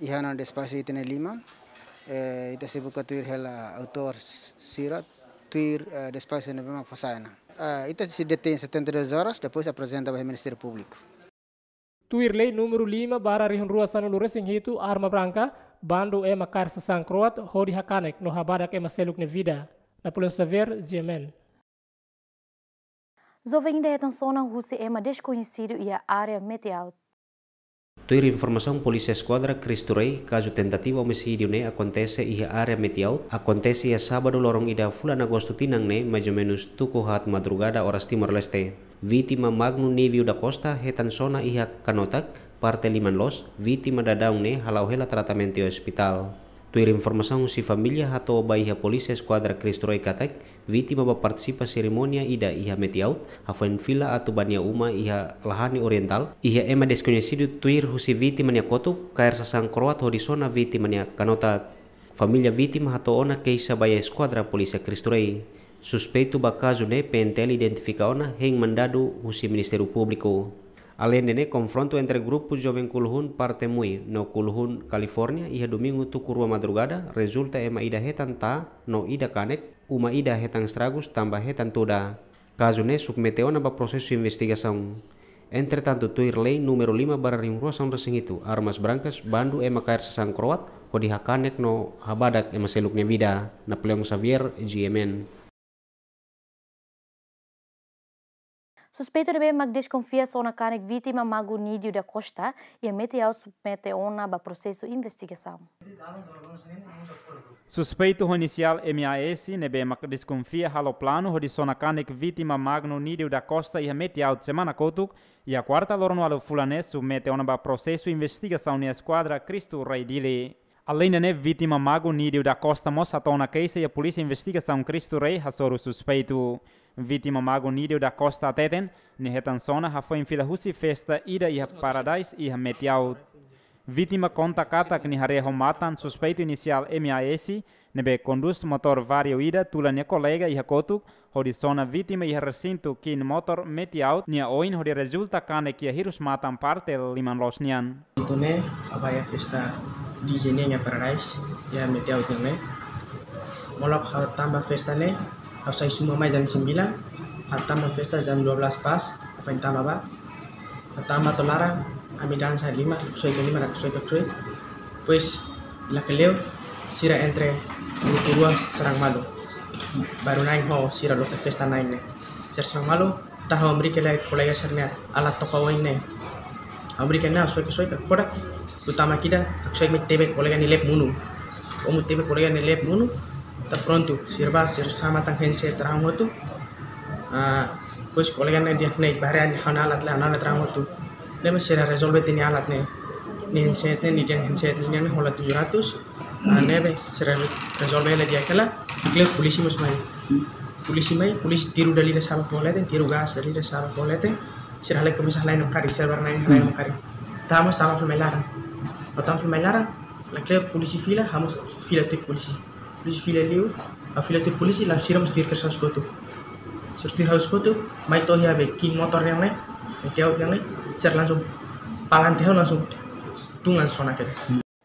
Iha ona despaxu ita-nia liman, eh, ita sei buka tuir hela autór sira, tuir, eh, despaxu ne'ebé mak fó sai ona. Ah, ita sei detein setenta e duas horas, depois aprezenta ba Ministériu Públiku. Tuir lei númeru lima barra rihun rua sanulu-resin-hitu, arma branka, bandu ema kaer sasán kroat, hodi hakanek no habadak ema seluk nia vida. Napoleão Xavier, G M N. Joven ida hetan sona husi ema deskoñesidu iha área Metiaut. Tuir informasaun Polísia Eskuadra Cristo Rei, kazu tentativa omisídiu ne'e akontese iha área Metiaut, akontese iha sábadu loron ida fulan Agostu tinan ne'e, mais ou menus tuku haat madrugada oras Timor-Leste. Vítima Magno Nívio da Costa hetan sona iha kanotak, parte liman loos, vítima daudaun ne'e hala'o hela tratamentu iha ospitál. Tuir informasaun husi família hato'o ba iha Polísia Eskuadra Cristo Rei katak, vítima bá partisipa serimónia ida iha Metiaut, hafoin fila atu ba nia uma iha Lahani Orientál, iha ema deskoñesidu tuir husi vítima nia kotuk, kaer sasán kroat hodi sona vítima nia kanotak. Família vítima hato'o ona keixa ba iha Eskuadra Polísia Cristo Rei. Suspeitu ba kazu ne'e P N T L identifika ona hein mandadu husi Ministériu Públiku. Aleinde ne'e, konfrontu entre grupu joven Kuluhun parte Mui no Kuluhun California iha domingu tuku rua madrugada rezulta ema ida hetan taa no ida kanek, uma ida hetan estragus tanba hetan tuda. Kazu ne'e submete ona ba prosesu investigasaun. Entretantu, tuir lei númeru lima barra rihun rua sanulu-resin-hitu, armas brankas, bandu ema kaer sasán kroat, hodi hakanek no habadak ema seluk nia vida. Napoleão Xavier, G M N. Suspeitu ne'ebé mak deskonfia sona kanek vítima Mago Nídio da Costa, iha Metiaut submete ona ba prosesu investigasaun. Suspeitu ho inisiál M A S, ne'ebé mak deskonfia halo planu hodi sona kanek vítima Magno Nídio da Costa iha Metiaut semana kotuk, iha kuarta loron ualu fulan ne'e, submete ona ba prosesu investigasaun iha Eskuadra Cristo Rei Dili. Aleinde ne'e, vítima Mago Nídio da Costa mós hato'o ona keixa iha Polísia Investigasaun Cristo Rei hasoru suspeitu. Vítima Mago Nídio da Costa hateten, nia hetan sona hafoin fila husi festa ida iha Paradise iha Metiaut. Vítima konta katak nia haree ho matan suspeitu inisiál M A S, ne'ebé kondús motór Vario ida tula nia kolega iha kotuk, hodi sona vítima iha resintu kin motór Metiaut nia oin, hodi rezulta kanek iha hirus matan parte liman loos nian. Entaun ne'e, ha'u bá iha festa D J nian iha Paradise, iha Metiaut nian ne'e. Molok ha'u tama ba festa ne'e, ha'u sai suma mai jam sembilan, ha'u tama ba festa jam dua belas pas, ha'u foin tama ba. Ha'u tama to'o laran, ami dansa lima, soe ke lima, soe ke soe. Depois, lakleur, sira entre grupu rua sarang malu. Baru na'in ho sira loke festa na'in ne'e. Sira sarang malu, tah ha'u hamriik lai kolega sira-nia alat toka oin ne'e. Ha'u hamriik ne'e, soe ke soe ke kodak, ha'u tama ida, soe ke mai tebe kolega nia lep monu. Komu tebe kolega nia lep monu, entaun prontu, sira bá, sira sa'e matan handset raan hotu. Ah, depois kolega ne'e dehan ne'e, bare ha'u-nia alat la, ha'u-nia alat raan hotu. Ne'ebé sira rezolve tiha nia alat ne'e. Nia handset ne'e, nia dehan handset ne'e, nia hola tujuh ratus. Ah, ne'ebé sira rezolve hela di'ak hela, lakleur polísia mós mai. Polísia mai, polísia tiru dala ida sa'e ba foho leten, tiru gás dala ida sa'e ba foho leten. Sira halai komesa halai namkari, sira barak na'in halai namkari. Ha'u mós tama fila mai laran. Ha'u tama fila mai laran, lakleur polísia fila, ha'u mós fila tuir polísia. Polísia fila liu, ha'u fila tuir polísia, langsung sira mós tuir kedas ha'u iha kotuk. Sira tuir ha'u iha kotuk, mai to'o iha be kin motór nian ne'e, Metiaut nian ne'e, sira langsung palante ha'u langsung tun an sona kedas.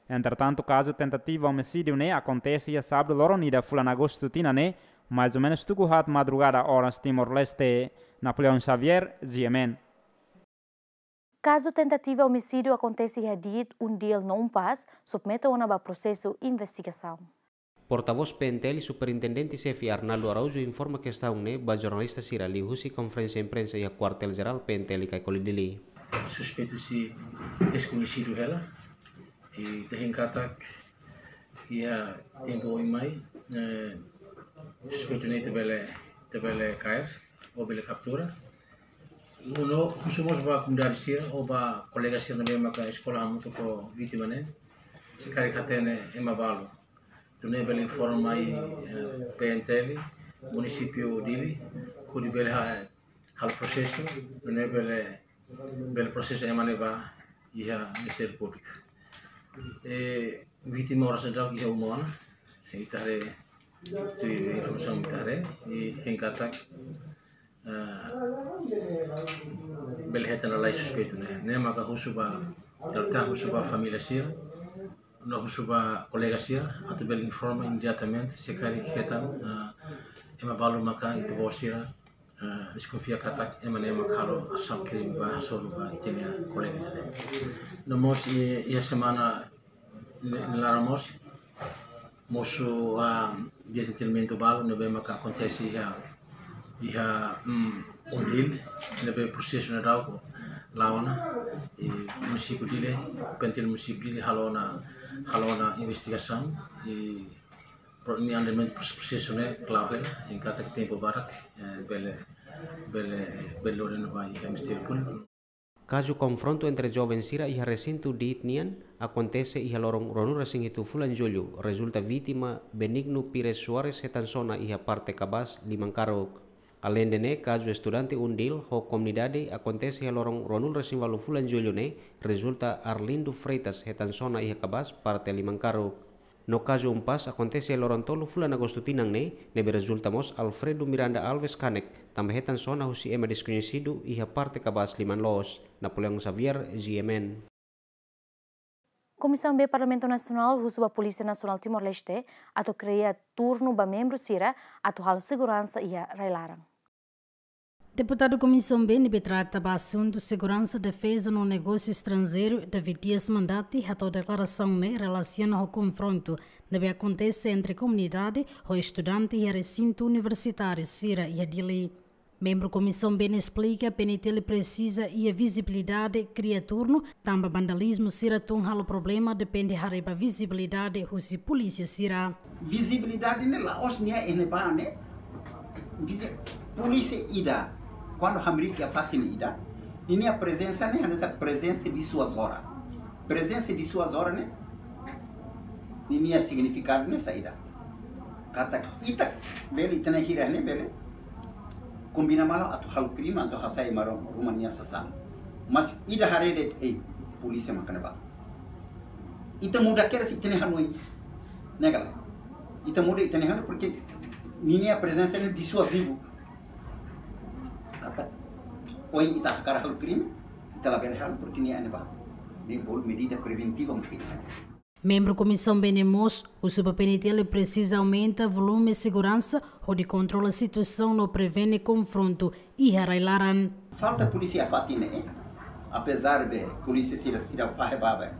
Entretantu, kazu tentativa omisídiu ne'e akontese iha sábadu loron ida fulan Agostu tinan ne'e, mais ou menus tuku haat madrugada oras Timor-Leste. Napoleão Xavier, G M N. Kazu tentativa omisídiu akontese iha diit Undil no Umpas, submete ona ba prosesu investigasaun. Portavós P N T L, Superintendente Xefe Arnaldo Araújo informa kestaun ne'e ba jornalista sira liuhusi konferénsia imprensa iha Kuartél Jerál P N T L Caicoli Dili. Suspeitu sei deskoñesidu hela, i ita hein katak iha tempu oin mai, eh, suspeitu ne'e ita bele, ita bele kaer, ou bele kaptura. Ha'u husu mós ba komunidade sira, ou ba kolega sira ne'ebé maka eskola hamutuk ho vítima ne'e, se karik hatene ema balu. Entaun ne'e bele informa mai, eh, P N T L, munisípiu Dili, hodi bele ha-, halo prosesu, entaun ne'e bele, bele prosesu ema ne'e ba iha Ministériu Públiku. Eh, vítima oras ne'e daudaun iha uma ona, eh, ita haree, tuir informasaun ita haree, i hein katak, eh, bele hetan lalais suspeitu ne'e. Ne'e maka husu ba, ita husu ba família sira, no husu ba kolega sira, atu bele informa imediatamente, se karik hetan, eh, ema balu maka ita-boot sira, eh, deskonfia katak ema ne'e mak halo asaun krime ba hasoru ba ita-nia kolega ne'e. No mós, i, iha semana ne'e, ne'e laran mós, mosu, ah, dezentendimentu balu ne'ebé maka akontese iha, iha, mm, Undil, ne'ebé prosesu ne'e daudaun la'o ona, i munisípiu Dili, P N T L munisípiu Dili halo ona, halo ona investigasaun, i pro-, nia andamentu pros-, prosesu ne'e la'o hela, hein katak tempu badak, eh, bele, bele, bele lori ona ba iha Ministériu Públiku. Kazu konfrontu entre joven sira iha resintu diit nian akontese iha loron ruanulu-resin-hitu fulan Jullu, rezulta vítima Benigno Pires Soares hetan sona iha parte kabaas liman karuk. Aleinde ne'e, kazu estudante Undil ho komunidade akontese iha loron ruanulu-resin-ualu fulan Jullu ne'e, rezulta Arlindo Freitas hetan sona iha kabaas parte liman karuk. No kazu Umpaz akontese loron tolu fulan Agostu tinan ne'e, ne'ebé rezulta mós Alfredo Miranda Alves kanek, tanba hetan sona husi ema deskoñesidu iha parte kabaas liman loos. Napoleão Xavier, G M N. Komisaun B Parlamentu Nasionál husu ba Polísia Nasionál Timor-Leste atu kria turnu ba membru sira atu halo seguransa iha rai-laran. Deputadu Komisaun B ne'ebé trata ba asuntu seguransa, defeza no negósiu estranjeiru, David Dias Mandati, hato'o deklarasaun ne'e relasiona ho konfrontu ne'ebé akontese entre komunidade ho estudante iha resintu universitáriu sira iha Dili. Membru Komisaun B ne'e esplika PNTL presiza iha vizibilidade, kria turnu, tanba vandalizmu sira tun halo problema, depende haree ba vizibilidade husi polísia sira. Vizibilidade ne'e la'ós nia iha ne'ebá ne'e. Vizi-, polísia ida, kuandu hamriik iha fatin ida, ninia prezensa ne'e hanesan prezensa disuazora. Prezensa disuazora ne'e, ninia signifikadu ne'e saida? Katak ita bele, ita-nia hira ne'e bele kombina malu atu halo krime, atu hasai ema ruma nia sasán. Mas ida haree de'it, ei, polísia mak ne'ebá. Ita muda kedas ita-nia hanoin. Ne'e ka lae? Ita muda ita-nia hanoin, porque ninia prezensa ne'e disuazivu. Katak, ohin ita hakarak halo krime, ita labele halo, porque nia iha ne'ebá. Ne'e bolu medida preventiva mak ita. Membru Komisaun B ne'e mós husu ba PNTL presiza aumenta volume seguransa, hodi kontrola situasaun no prevene konfrontu iha rai-laran. Falta polísia iha fatin ne'e, apezar de polísia sira, sira fahe ba,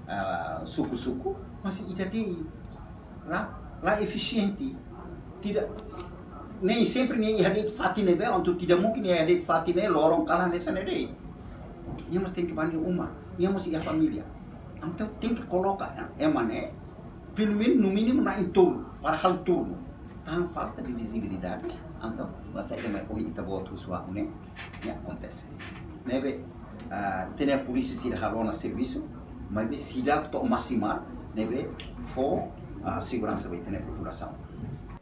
ah, suku-suku, mas ita de'it la, la efisiente. Tidak, nem sempre nia iha de'it fatin ne'ebé, entaun tidak mungkin nia iha de'it fatin ne'e, loron kalan hanesan ne'e de'it. Nia mós tenke bá nia uma, nia mós iha família. Entaun tenke koloka ema ne'e, pelumenus, no mínimu, na'in-tolu, para halo turnu. Tan falta de vizibilidade, entaun, buat saida mak ohin ita-boot husu ba ne'e, ne'e akontese. Ne'ebé, ah, ita-nia polísia sira halo ona servisu, maibé seidauk to'o maksimal, ne'ebé fó, ah, seguransa ba ita-nia populasaun.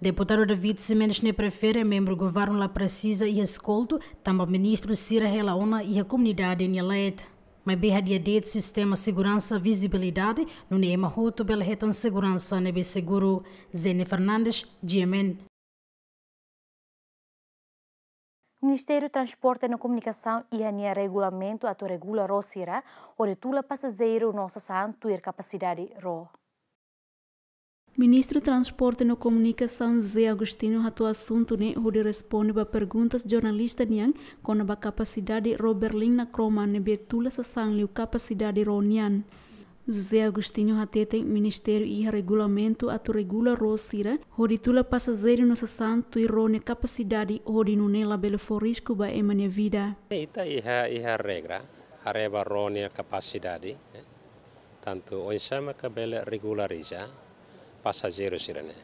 Deputadu David Ximenes ne'e prefere membru governu la presiza iha eskoltu, tanba ministru sira hela ona iha komunidade nia leet. Maibé hadi'a de'it sistema seguransa vizibilidade, nune'e ema hotu bele hetan seguransa ne'ebé seguru. Zene Fernandes, G M N. Ministériu Transporte no Komunikasaun iha nia regulamentu atu regula ró sira hodi tula pasajeiru no sasán tuir kapasidade ró. Ministru Transporte no Komunikasaun José Agostinho hato'o asuntu ne'e hodi responde ba perguntas jornalista nian kona-ba kapasidade ró berlina kroma ne'ebé tula sasán liu kapasidade ró nian. José Agostinho hateten ministériu iha regulamentu atu regula ró sira hodi tula pasajeiru no sasán tuir ró nia kapasidade hodi nune'e labele fó risku ba ema nia vida. Ita iha, iha regra, haree ba ró nia kapasidade, eh, tantu oinsá maka bele regulariza pasajeiru sira-ne'e.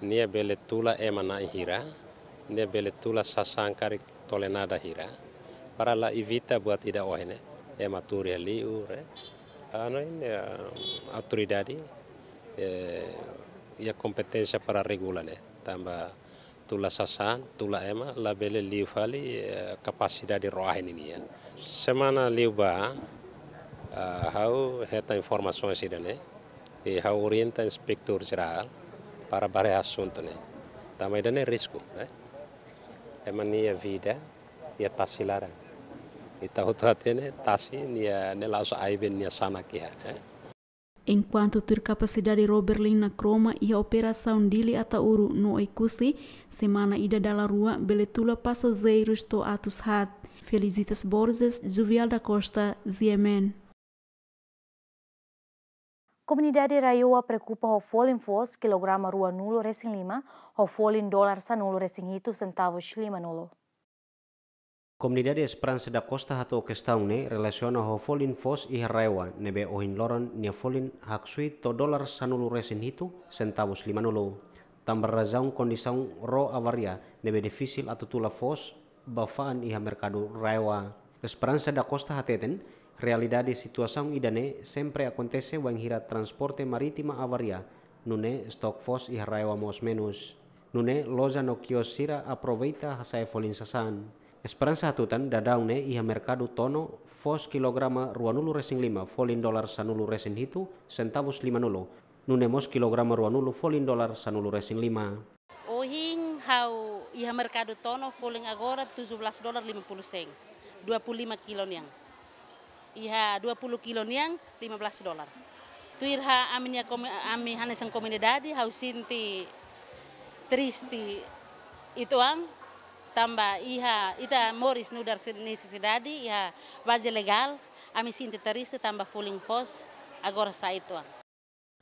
Nia bele tula ema na'in hira, nia bele tula sasán karik tonelada hira. Para la evita buat ida ohin ne'e, ema tuur iha li'ur, eh. Anu ne'e, eh, autoridade, eh, iha kompeténsia para regula ne'e. Tanba tula sasán, tula ema, labele liu fali, eh, kapasidade ró ahi ninian. Semana liubá, ah, ha'u hetan informasaun sira-ne'e, i ha'u orienta inspetór jerál para bá haree asuntu ne'e. Tanba ida-ne'e risku, eh? Ema nia vida iha tasi laran. Ita hotu hatene tasi nia, ne'e la'ós aibe nia sanak iha, eh? Enkuantu tuir kapasidade ró berlina kroma iha operasaun Dili Ataúro no Oekusi, semana ida dala rua bele tula pasajeirus to'o atus haat. Felicitas Borges, Juvial da Costa, G M N. Komunidade RAEOA preokupa ho folin foos kilograma ruanulu resin lima, ho folin dolar sanulu resin hitu sentavus limanulu. Komunidade Esperança da Costa hato'o kestaun ne'e relasiona ho folin foos iha RAEOA, ne'ebé ohin loron nia folin haksoit to'o dolar sanulu resin hitu sentavus limanulu. Tanba razaun kondisaun ró avaria ne'ebé difisil atu tula foos ba fa'an iha merkadu RAEOA. Esperança da Costa hateten, realidade situasaun ida-ne'e sempre akontese wainhira transporte marítima avaria, nune'e stok foos iha RAEOA mós menus. Nune'e loja no kios sira aproveita hasa'e folin sasán. Esperança hatutan daudaun ne'e iha merkadu Tono foos kilograma ruanulu resin lima folin dolar sanulu resin hitu sentavus limanulu. nune'e mós kilograma ruanulu folin dolar sanulu resin lima. Ohin ha'u iha merkadu tono folin agora tujuh belas dolar lima puluh sen, dua puluh lima kilo nian. Iha dua puluh kilo nian lima belas dolar. Tuir ami-nia komi-, ami hanesan komunidade ha'u sente triste uitoan, tanba iha ita moris nu'udar se-, nesesidade iha baze legál, ami sente triste tanba folin foos agora sa'e uitoan.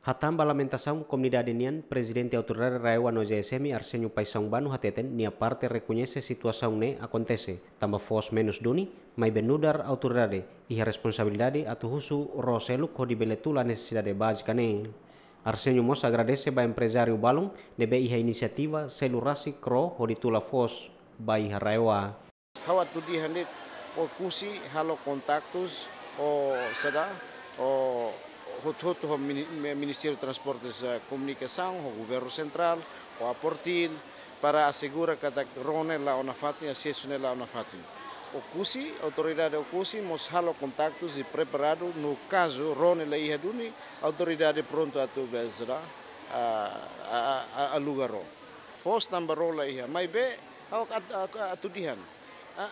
Hatán ba lamentasaun komunidade nian, Prezidente Autoridade RAEOA no JSM Arsenio Paixão Bano hateten nia parte rekoñese situasaun ne'e akontese tanba foos menus duni, maibé nu'udar autoridade iha responsabilidade atu husu ró seluk hodi bele tula nesesidade bázika ne'e. Arsenio mós agradese ba emprezáriu balun ne'ebé iha inisiativa selu rasik ró hodi tula foos ba iha RAEOA. Ha'u atu dehan de'it, Oekusi halo kontaktus ho saida, ho hotu-hotu ho mini-, mi-, Ministériu Transportes, eh, Komunikasaun, ho Governu Sentrál, ho APORTIL, para asegura katak ró ne'e la'o nafatin, asesu ne'e la'o nafatin. Oekusi, autoridade Oekusi mós halo kontaktus i preparadu, no kazu ró ne'e la iha duni, autoridade prontu atu bele saida, a, a, a, a, aluga ró. Foos tanba ró la iha, maibé ha'u at-, at-, atu dehan. A,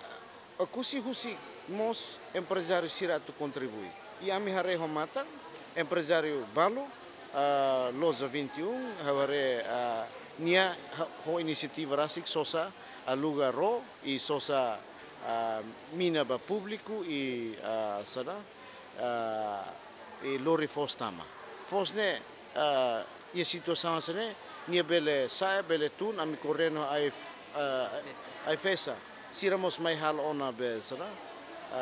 Oekusi husik mós emprezáriu sira atu kontribui. I ami haree ho matan, emprezáriu balu, a, Loja vinte e um, ha'u haree, a, nia ha-, ho inisiativa rasik sosa aluga ró, i sosa, a, mina ba públiku, i, a, saida, a, i lori foos tama. Foos ne'e, a, iha situasaun hanesan ne'e, nia bele sa'e, bele tun, ami koordena ho AIF-, a, AIFAESA. Sira mós mai halo ona be saida, a,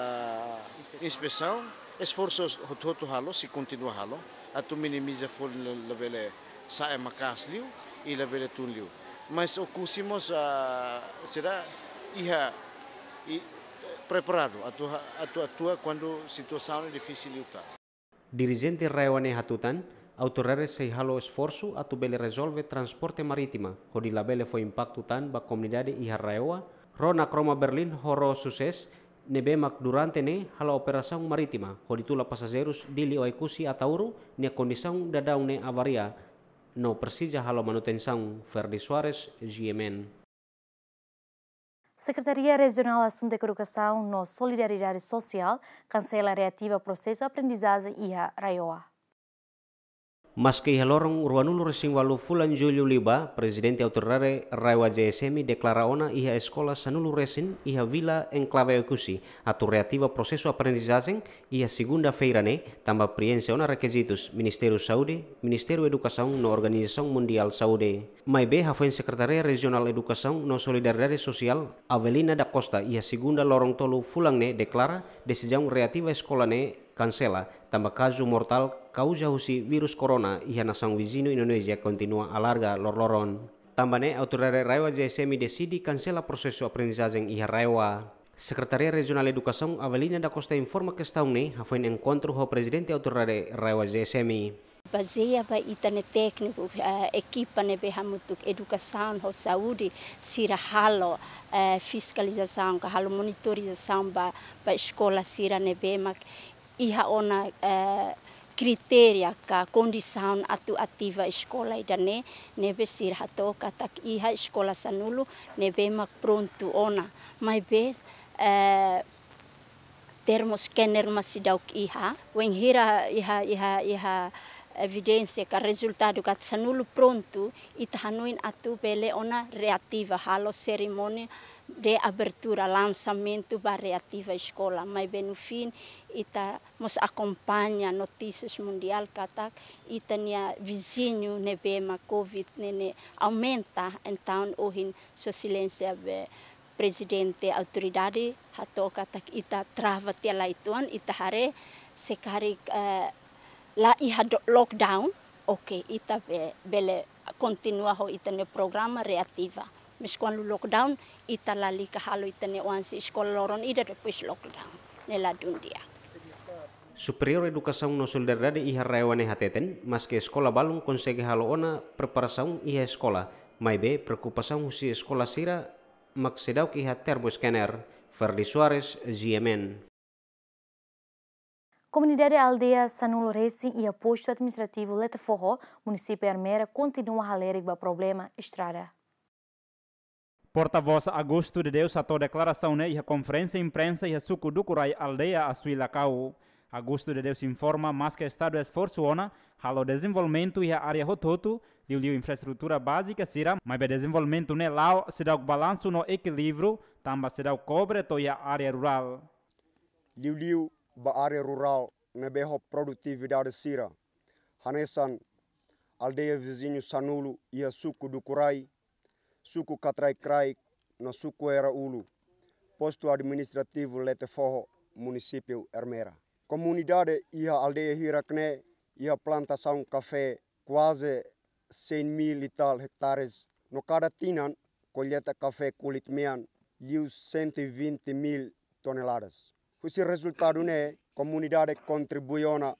inspesaun, esforsu hotu-hotu halo, sei kontinua halo, atu minimiza folin la, labele sa'e maka'as liu, i labele tun liu. Mas Oekusi mós, a, saida, iha, i, preparadu, atu ha-, atu atua kuandu situasaun difisil liután. Dirijente RAEOA ne'e hatutan, autoridade sei halo esforsu atu bele rezolve transporte marítima, hodi labele fó impaktu tan ba komunidade iha RAEOA, ró Nakroma Berlin ho ró Success, ne'ebé mak durante ne'e halo operasaun marítima, hodi tula pasajeirus Dili Oekusi Ataúro, nia kondisaun daudaun ne'e avaria, no presiza halo manutensaun. Ferdi Soares, GMN. Sekretaria Rejionál Asuntu Edukasaun no Solidariedade Sosiál kansela reativa prosesu aprendizajen iha RAEOA. Maske iha loron ruanulu resin ualu fulan Jullu liubá, Prezidente Autoridade RAEOA JSM deklara ona iha eskola sanulu resin iha Vila Enklave Oekusi atu reativa prosesu aprendizajen iha segunda-feira ne'e, tanba prienxe ona rekizitus Ministériu Saúde, Ministériu Edukasaun no Organizasaun Mundiál Saúde. Maibé hafoin Sekretaria Rejionál Edukasaun no Solidariedade Sosiál, Avelina da Costa, iha segunda loron tolu fulan ne'e deklara desizaun reativa eskola ne'e kansela, tanba kazu mortál kauza husi vírus corona iha nasaun viziñu Indonézia kontinua alarga lorloron. Tanba ne'e, autoridade RAEOA JSM deside kansela prosesu aprendizajen iha RAEOA. Sekretaria Rejionál Edukasaun, Avelina da Costa, informa kestaun ne'e hafoin enkontru ho Prezidente Autoridade RAEOA JSM. Bazeia ba ita-nia tékniku, eh, ekipa ne'ebé hamutuk edukasaun ho saúde, sira halo, eh, fiskalizasaun, ka halo monitorizasaun ba, ba eskola sira ne'ebé mak iha ona, eh, kritéria ka kondisaun atu ativa eskola ida-ne'e, ne'ebé sira hato'o katak iha eskola sanulu ne'ebé mak prontu ona. Maibé, eh, termoscanner mak seidauk iha. Wainhira iha, iha, iha evidénsia ka rezultadu katak sanulu prontu, ita hanoin atu bele ona reativa, halo serimónia de abertura, lansamentu ba reativa eskola. Maibé no fim, ita mós akompaña notísias mundiál katak ita-nia viziñu ne'ebé mak covid ne'e, ne'e aumenta, entaun ohin Sua Exelénsia be Prezidente Autoridade hato'o katak ita trava tiha lai uitoan, ita haree se karik, eh, la iha do-, lockdown, oke, ita be-, bele kontinua ho ita-nia programa reativa. Mas kuandu lockdown, ita lalika halo ita-nia oan sei eskola loron ida depois lockdown. Ne'e ladún di'ak. Superiór Edukasaun no Solidariedade iha RAEOA ne'e hateten, maske eskola balun konsege halo ona preparasaun iha eskola, maibé preokupasaun husi eskola sira mak seidauk iha termoscanner. Ferdi Soares, GMN. Komunidade aldeia Sanulu Resin iha postu administrativu Letefoho, munisípiu Ermera, kontinua halerik ba problema estrada. Portavós Augusto de Deus hato'o deklarasaun ne'e iha konferénsia imprensa iha suku Dukurai, aldeia Asuilakau. Augusto de Deus informa, maske estadu esforsu ona halo dezenvolvimentu iha área hotu-hotu, liuliu infraestrutura bázika sira, maibé dezenvolvimentu ne'e la'o seidauk balansu no ekilíbriu, tanba seidauk kobre to'o iha área rurál. Liuliu ba área rurál ne'ebé ho produtividade sira, hanesan aldeia viziñu Sanulu iha suku Dukurai, suku Katrai Kraik, no suku Era Ulu, postu administrativu Letefoho, munisípiu Ermera. Komunidade iha aldeia hirak ne'e iha plantasaun kafé kuaze cem mil e tal hectares, no kada tinan kolleita kafé kulit mean liu cento e vinte mil toneladas. Husi rezultadu ne'e, komunidade kontribui ona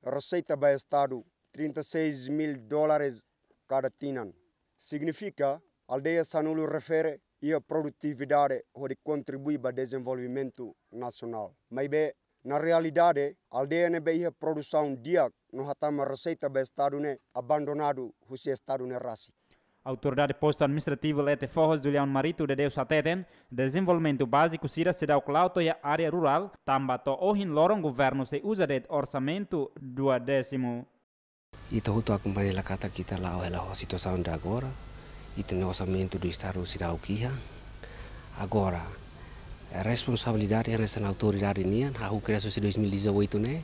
reseita ba estadu trinta e seis mil dólares kada tinan. Signifika, aldeia Sanulu refere iha produtividade hodi kontribui ba dezenvolvimentu nasionál. Maibé, na realidade, aldeia ne'ebé iha produsaun di'ak no hatama reseita ba estadu ne'e abandonadu husi estadu ne'e rasik. Autoridade postu administrativu Letefoho, Julião Marito de Deus hateten, dezenvolvimentu báziku sira seidauk la'o to'o iha área rurál, tanba to'o ohin loron governu sei uza de'it orsamentu duodésimu. Ita hotu akompaña hela katak ita la'o hela ho situasaun de agora. Ita-nia orsamentu do estadu seidauk iha. Agora, responsabilidade hanesan autoridade nian, hahú kria husi dois mil e dezoito ne'e,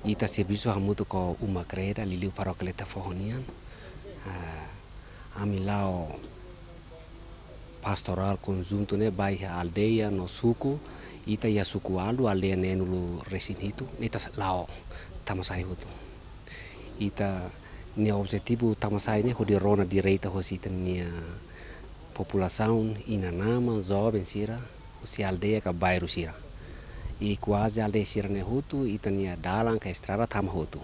ita servisu hamutuk ho Uma Kreda, liuliu parókia Letefoho nian. Ah, ami la'o pastorál konjuntu ne'e ba iha aldeia no suku, ita iha suku Alu, aldeia neenulu resin hitu, ita s-, la'o tama sai hotu. Ita-nia objetivu tama sai ne'e hodi rona direta hosi ita-nia populasaun, inan-aman, joven sira, hosi aldeia ka bairru sira. I kuaze aldeia sira-ne'e hotu, ita-nia dalan ka estrada tama hotu.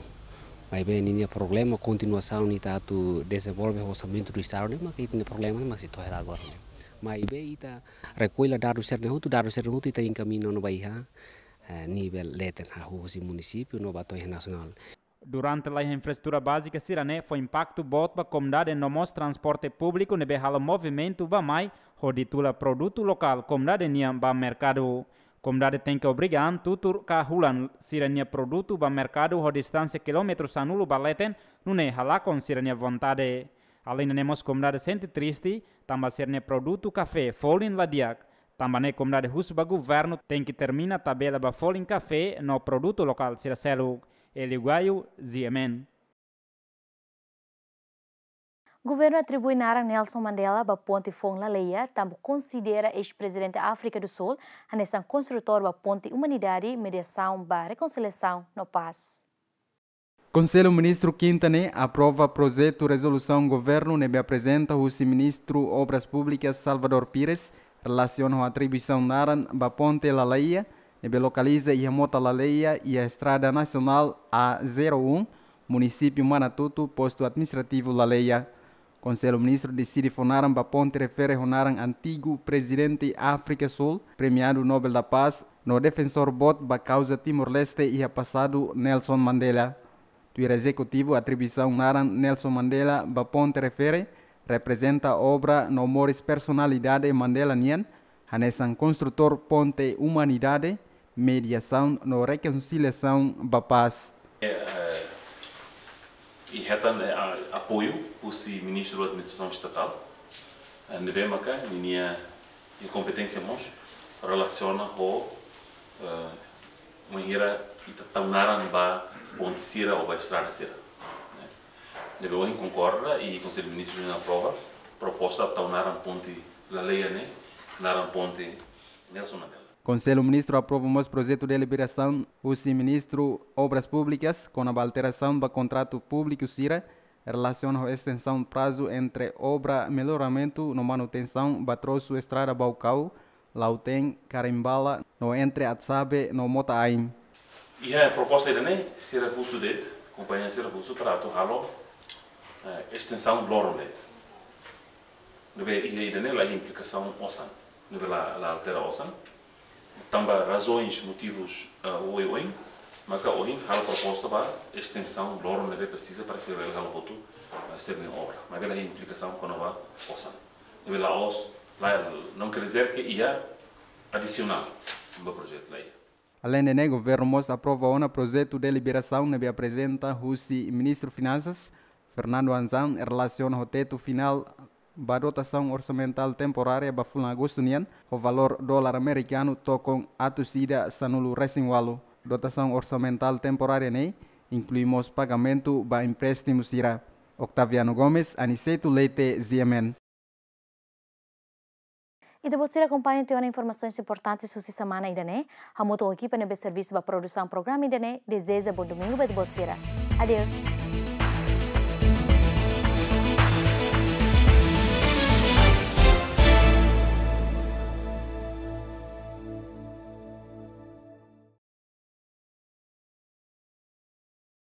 Maibé ninia problema kontinuasaun ita atu dezenvolve orsamentu do estadu ne'e, maka ita-nia problema ne'e mak sei to'o hela agora ne'e. Maibé ita rekolla dadus sira-ne'e hotu, dadus sira-ne'e hotu ita enkamiña ona ba iha, eh, nivel leten, hahú husi munisípiu no ba to'o iha nasionál. Durante laiha infraestrutura bázika sira-ne'e fó impaktu boot ba komunidade no mós transporte públiku ne'ebé halo movimentu bá-mai hodi tula produtu lokál komunidade nian ba merkadu. Komunidade tenke obriga an tutur ka hulan sira-nia produtu ba merkadu ho distánsia kilómetru sanulu ba leten, nune'e halakon sira-nia vontade. Alende ne'e mós komunidade sente triste, tanba sira-nia produtu kafé folin la di'ak. Tanba ne'e komunidade husu ba governu tenke termina tabela ba folin kafé no produtu lokál sira seluk. Elio Gaio, G M N. Governu atribui naran Nelson Mandela ba ponte foun Laleia, tanba konsidera eis-prezidente Áfrika do Sul hanesan konstrutór ba ponte umanidade, mediasaun ba rekonsiliasaun no pás. Konsellu Ministru kinta ne'e aprova projetu rezolusaun governu ne'ebé aprezenta husi Ministru Obras Públikas Salvador Pires, relasiona ho atribuisaun naran ba ponte Laleia, ne'ebé lokaliza iha Mota Laleia, iha Estrada Nasionál A zero um, munisípiu Manatuto, postu administrativu Laleia. Konsellu Ministru deside fó naran ba ponte refere ho naran antigu prezidente Áfrika Sul, premiadu Nobel da Paz, no defensór boot ba kauza Timor-Leste iha pasadu, Nelson Mandela. Tuir ezekutivu, atribuisaun naran Nelson Mandela ba ponte refere reprezenta obra no moris personalidade Mandela nian, hanesan konstrutór ponte umanidade, mediasaun no rekonsiliasaun ba pás. Eh, eh, i hetan, eh, a-, apoiu husi Ministru Administrasaun Estatál, eh, ne'ebé maka ninia, ninia kompeténsia mós relasiona ho, eh, bainhira ita tau naran ba ponte sira ou ba estrada sira. Ne'ebé ohin konkorda i Konsellu Ministru aprova proposta tau naran ponte Laleia ne'e, naran ponte Nelson Mandela. Konsellu Ministru aprova mós projetu deliberasaun husi Ministru Obras Públikas kona-ba alterasaun ba kontratu públiku sira, relasiona ho estensaun prazu entre obra melloramentu no manutensaun ba trosu estrada Baucau, Lautém, Carimbala, no entre Atsabe no Mota Ain. Iha proposta ida-ne'e, sira husu de'it, kompañia sira husu para atu halo, eh, estensaun loron de'it. Ne'ebé iha ida-ne'e la implikasaun osan, ne'ebé la, la altera osan. Tanba razoens, motivus, eh, oioin, Maka ohin halo proposta ba estensaun loron ne'ebé presiza para sira bele halo hotu, eh, sira-nia obra. Maibé la iha implikasaun kona-ba osan. Ne'ebé la'ós, la, não quer dizer que iha adisionál ba projetu, la iha. Aleinde ne'e, governu mós aprova ona projetu deliberasaun ne'ebé aprezenta husi Ministru Finansas, Fernando Anzan, relasiona ho tetu finál ba dotasaun orsamentál temporária ba fulan Agostu nian, ho valór dolar amerikanu tokon atus ida sanulu resin ualu. Dotasaun orsamentál temporária ne'e inklui mós pagamentu ba empréstimu sira. Octaviano Gomes, Aniceto Leite, G M N. Ita-boot sira akompaña tiha ona informasaun importante husi semana ida-ne'e. Hamutuk ho ekipa ne'ebé servisu ba produsaun programa ida-ne'e, dezeja bom domingo ba ita-boot sira. Adeus.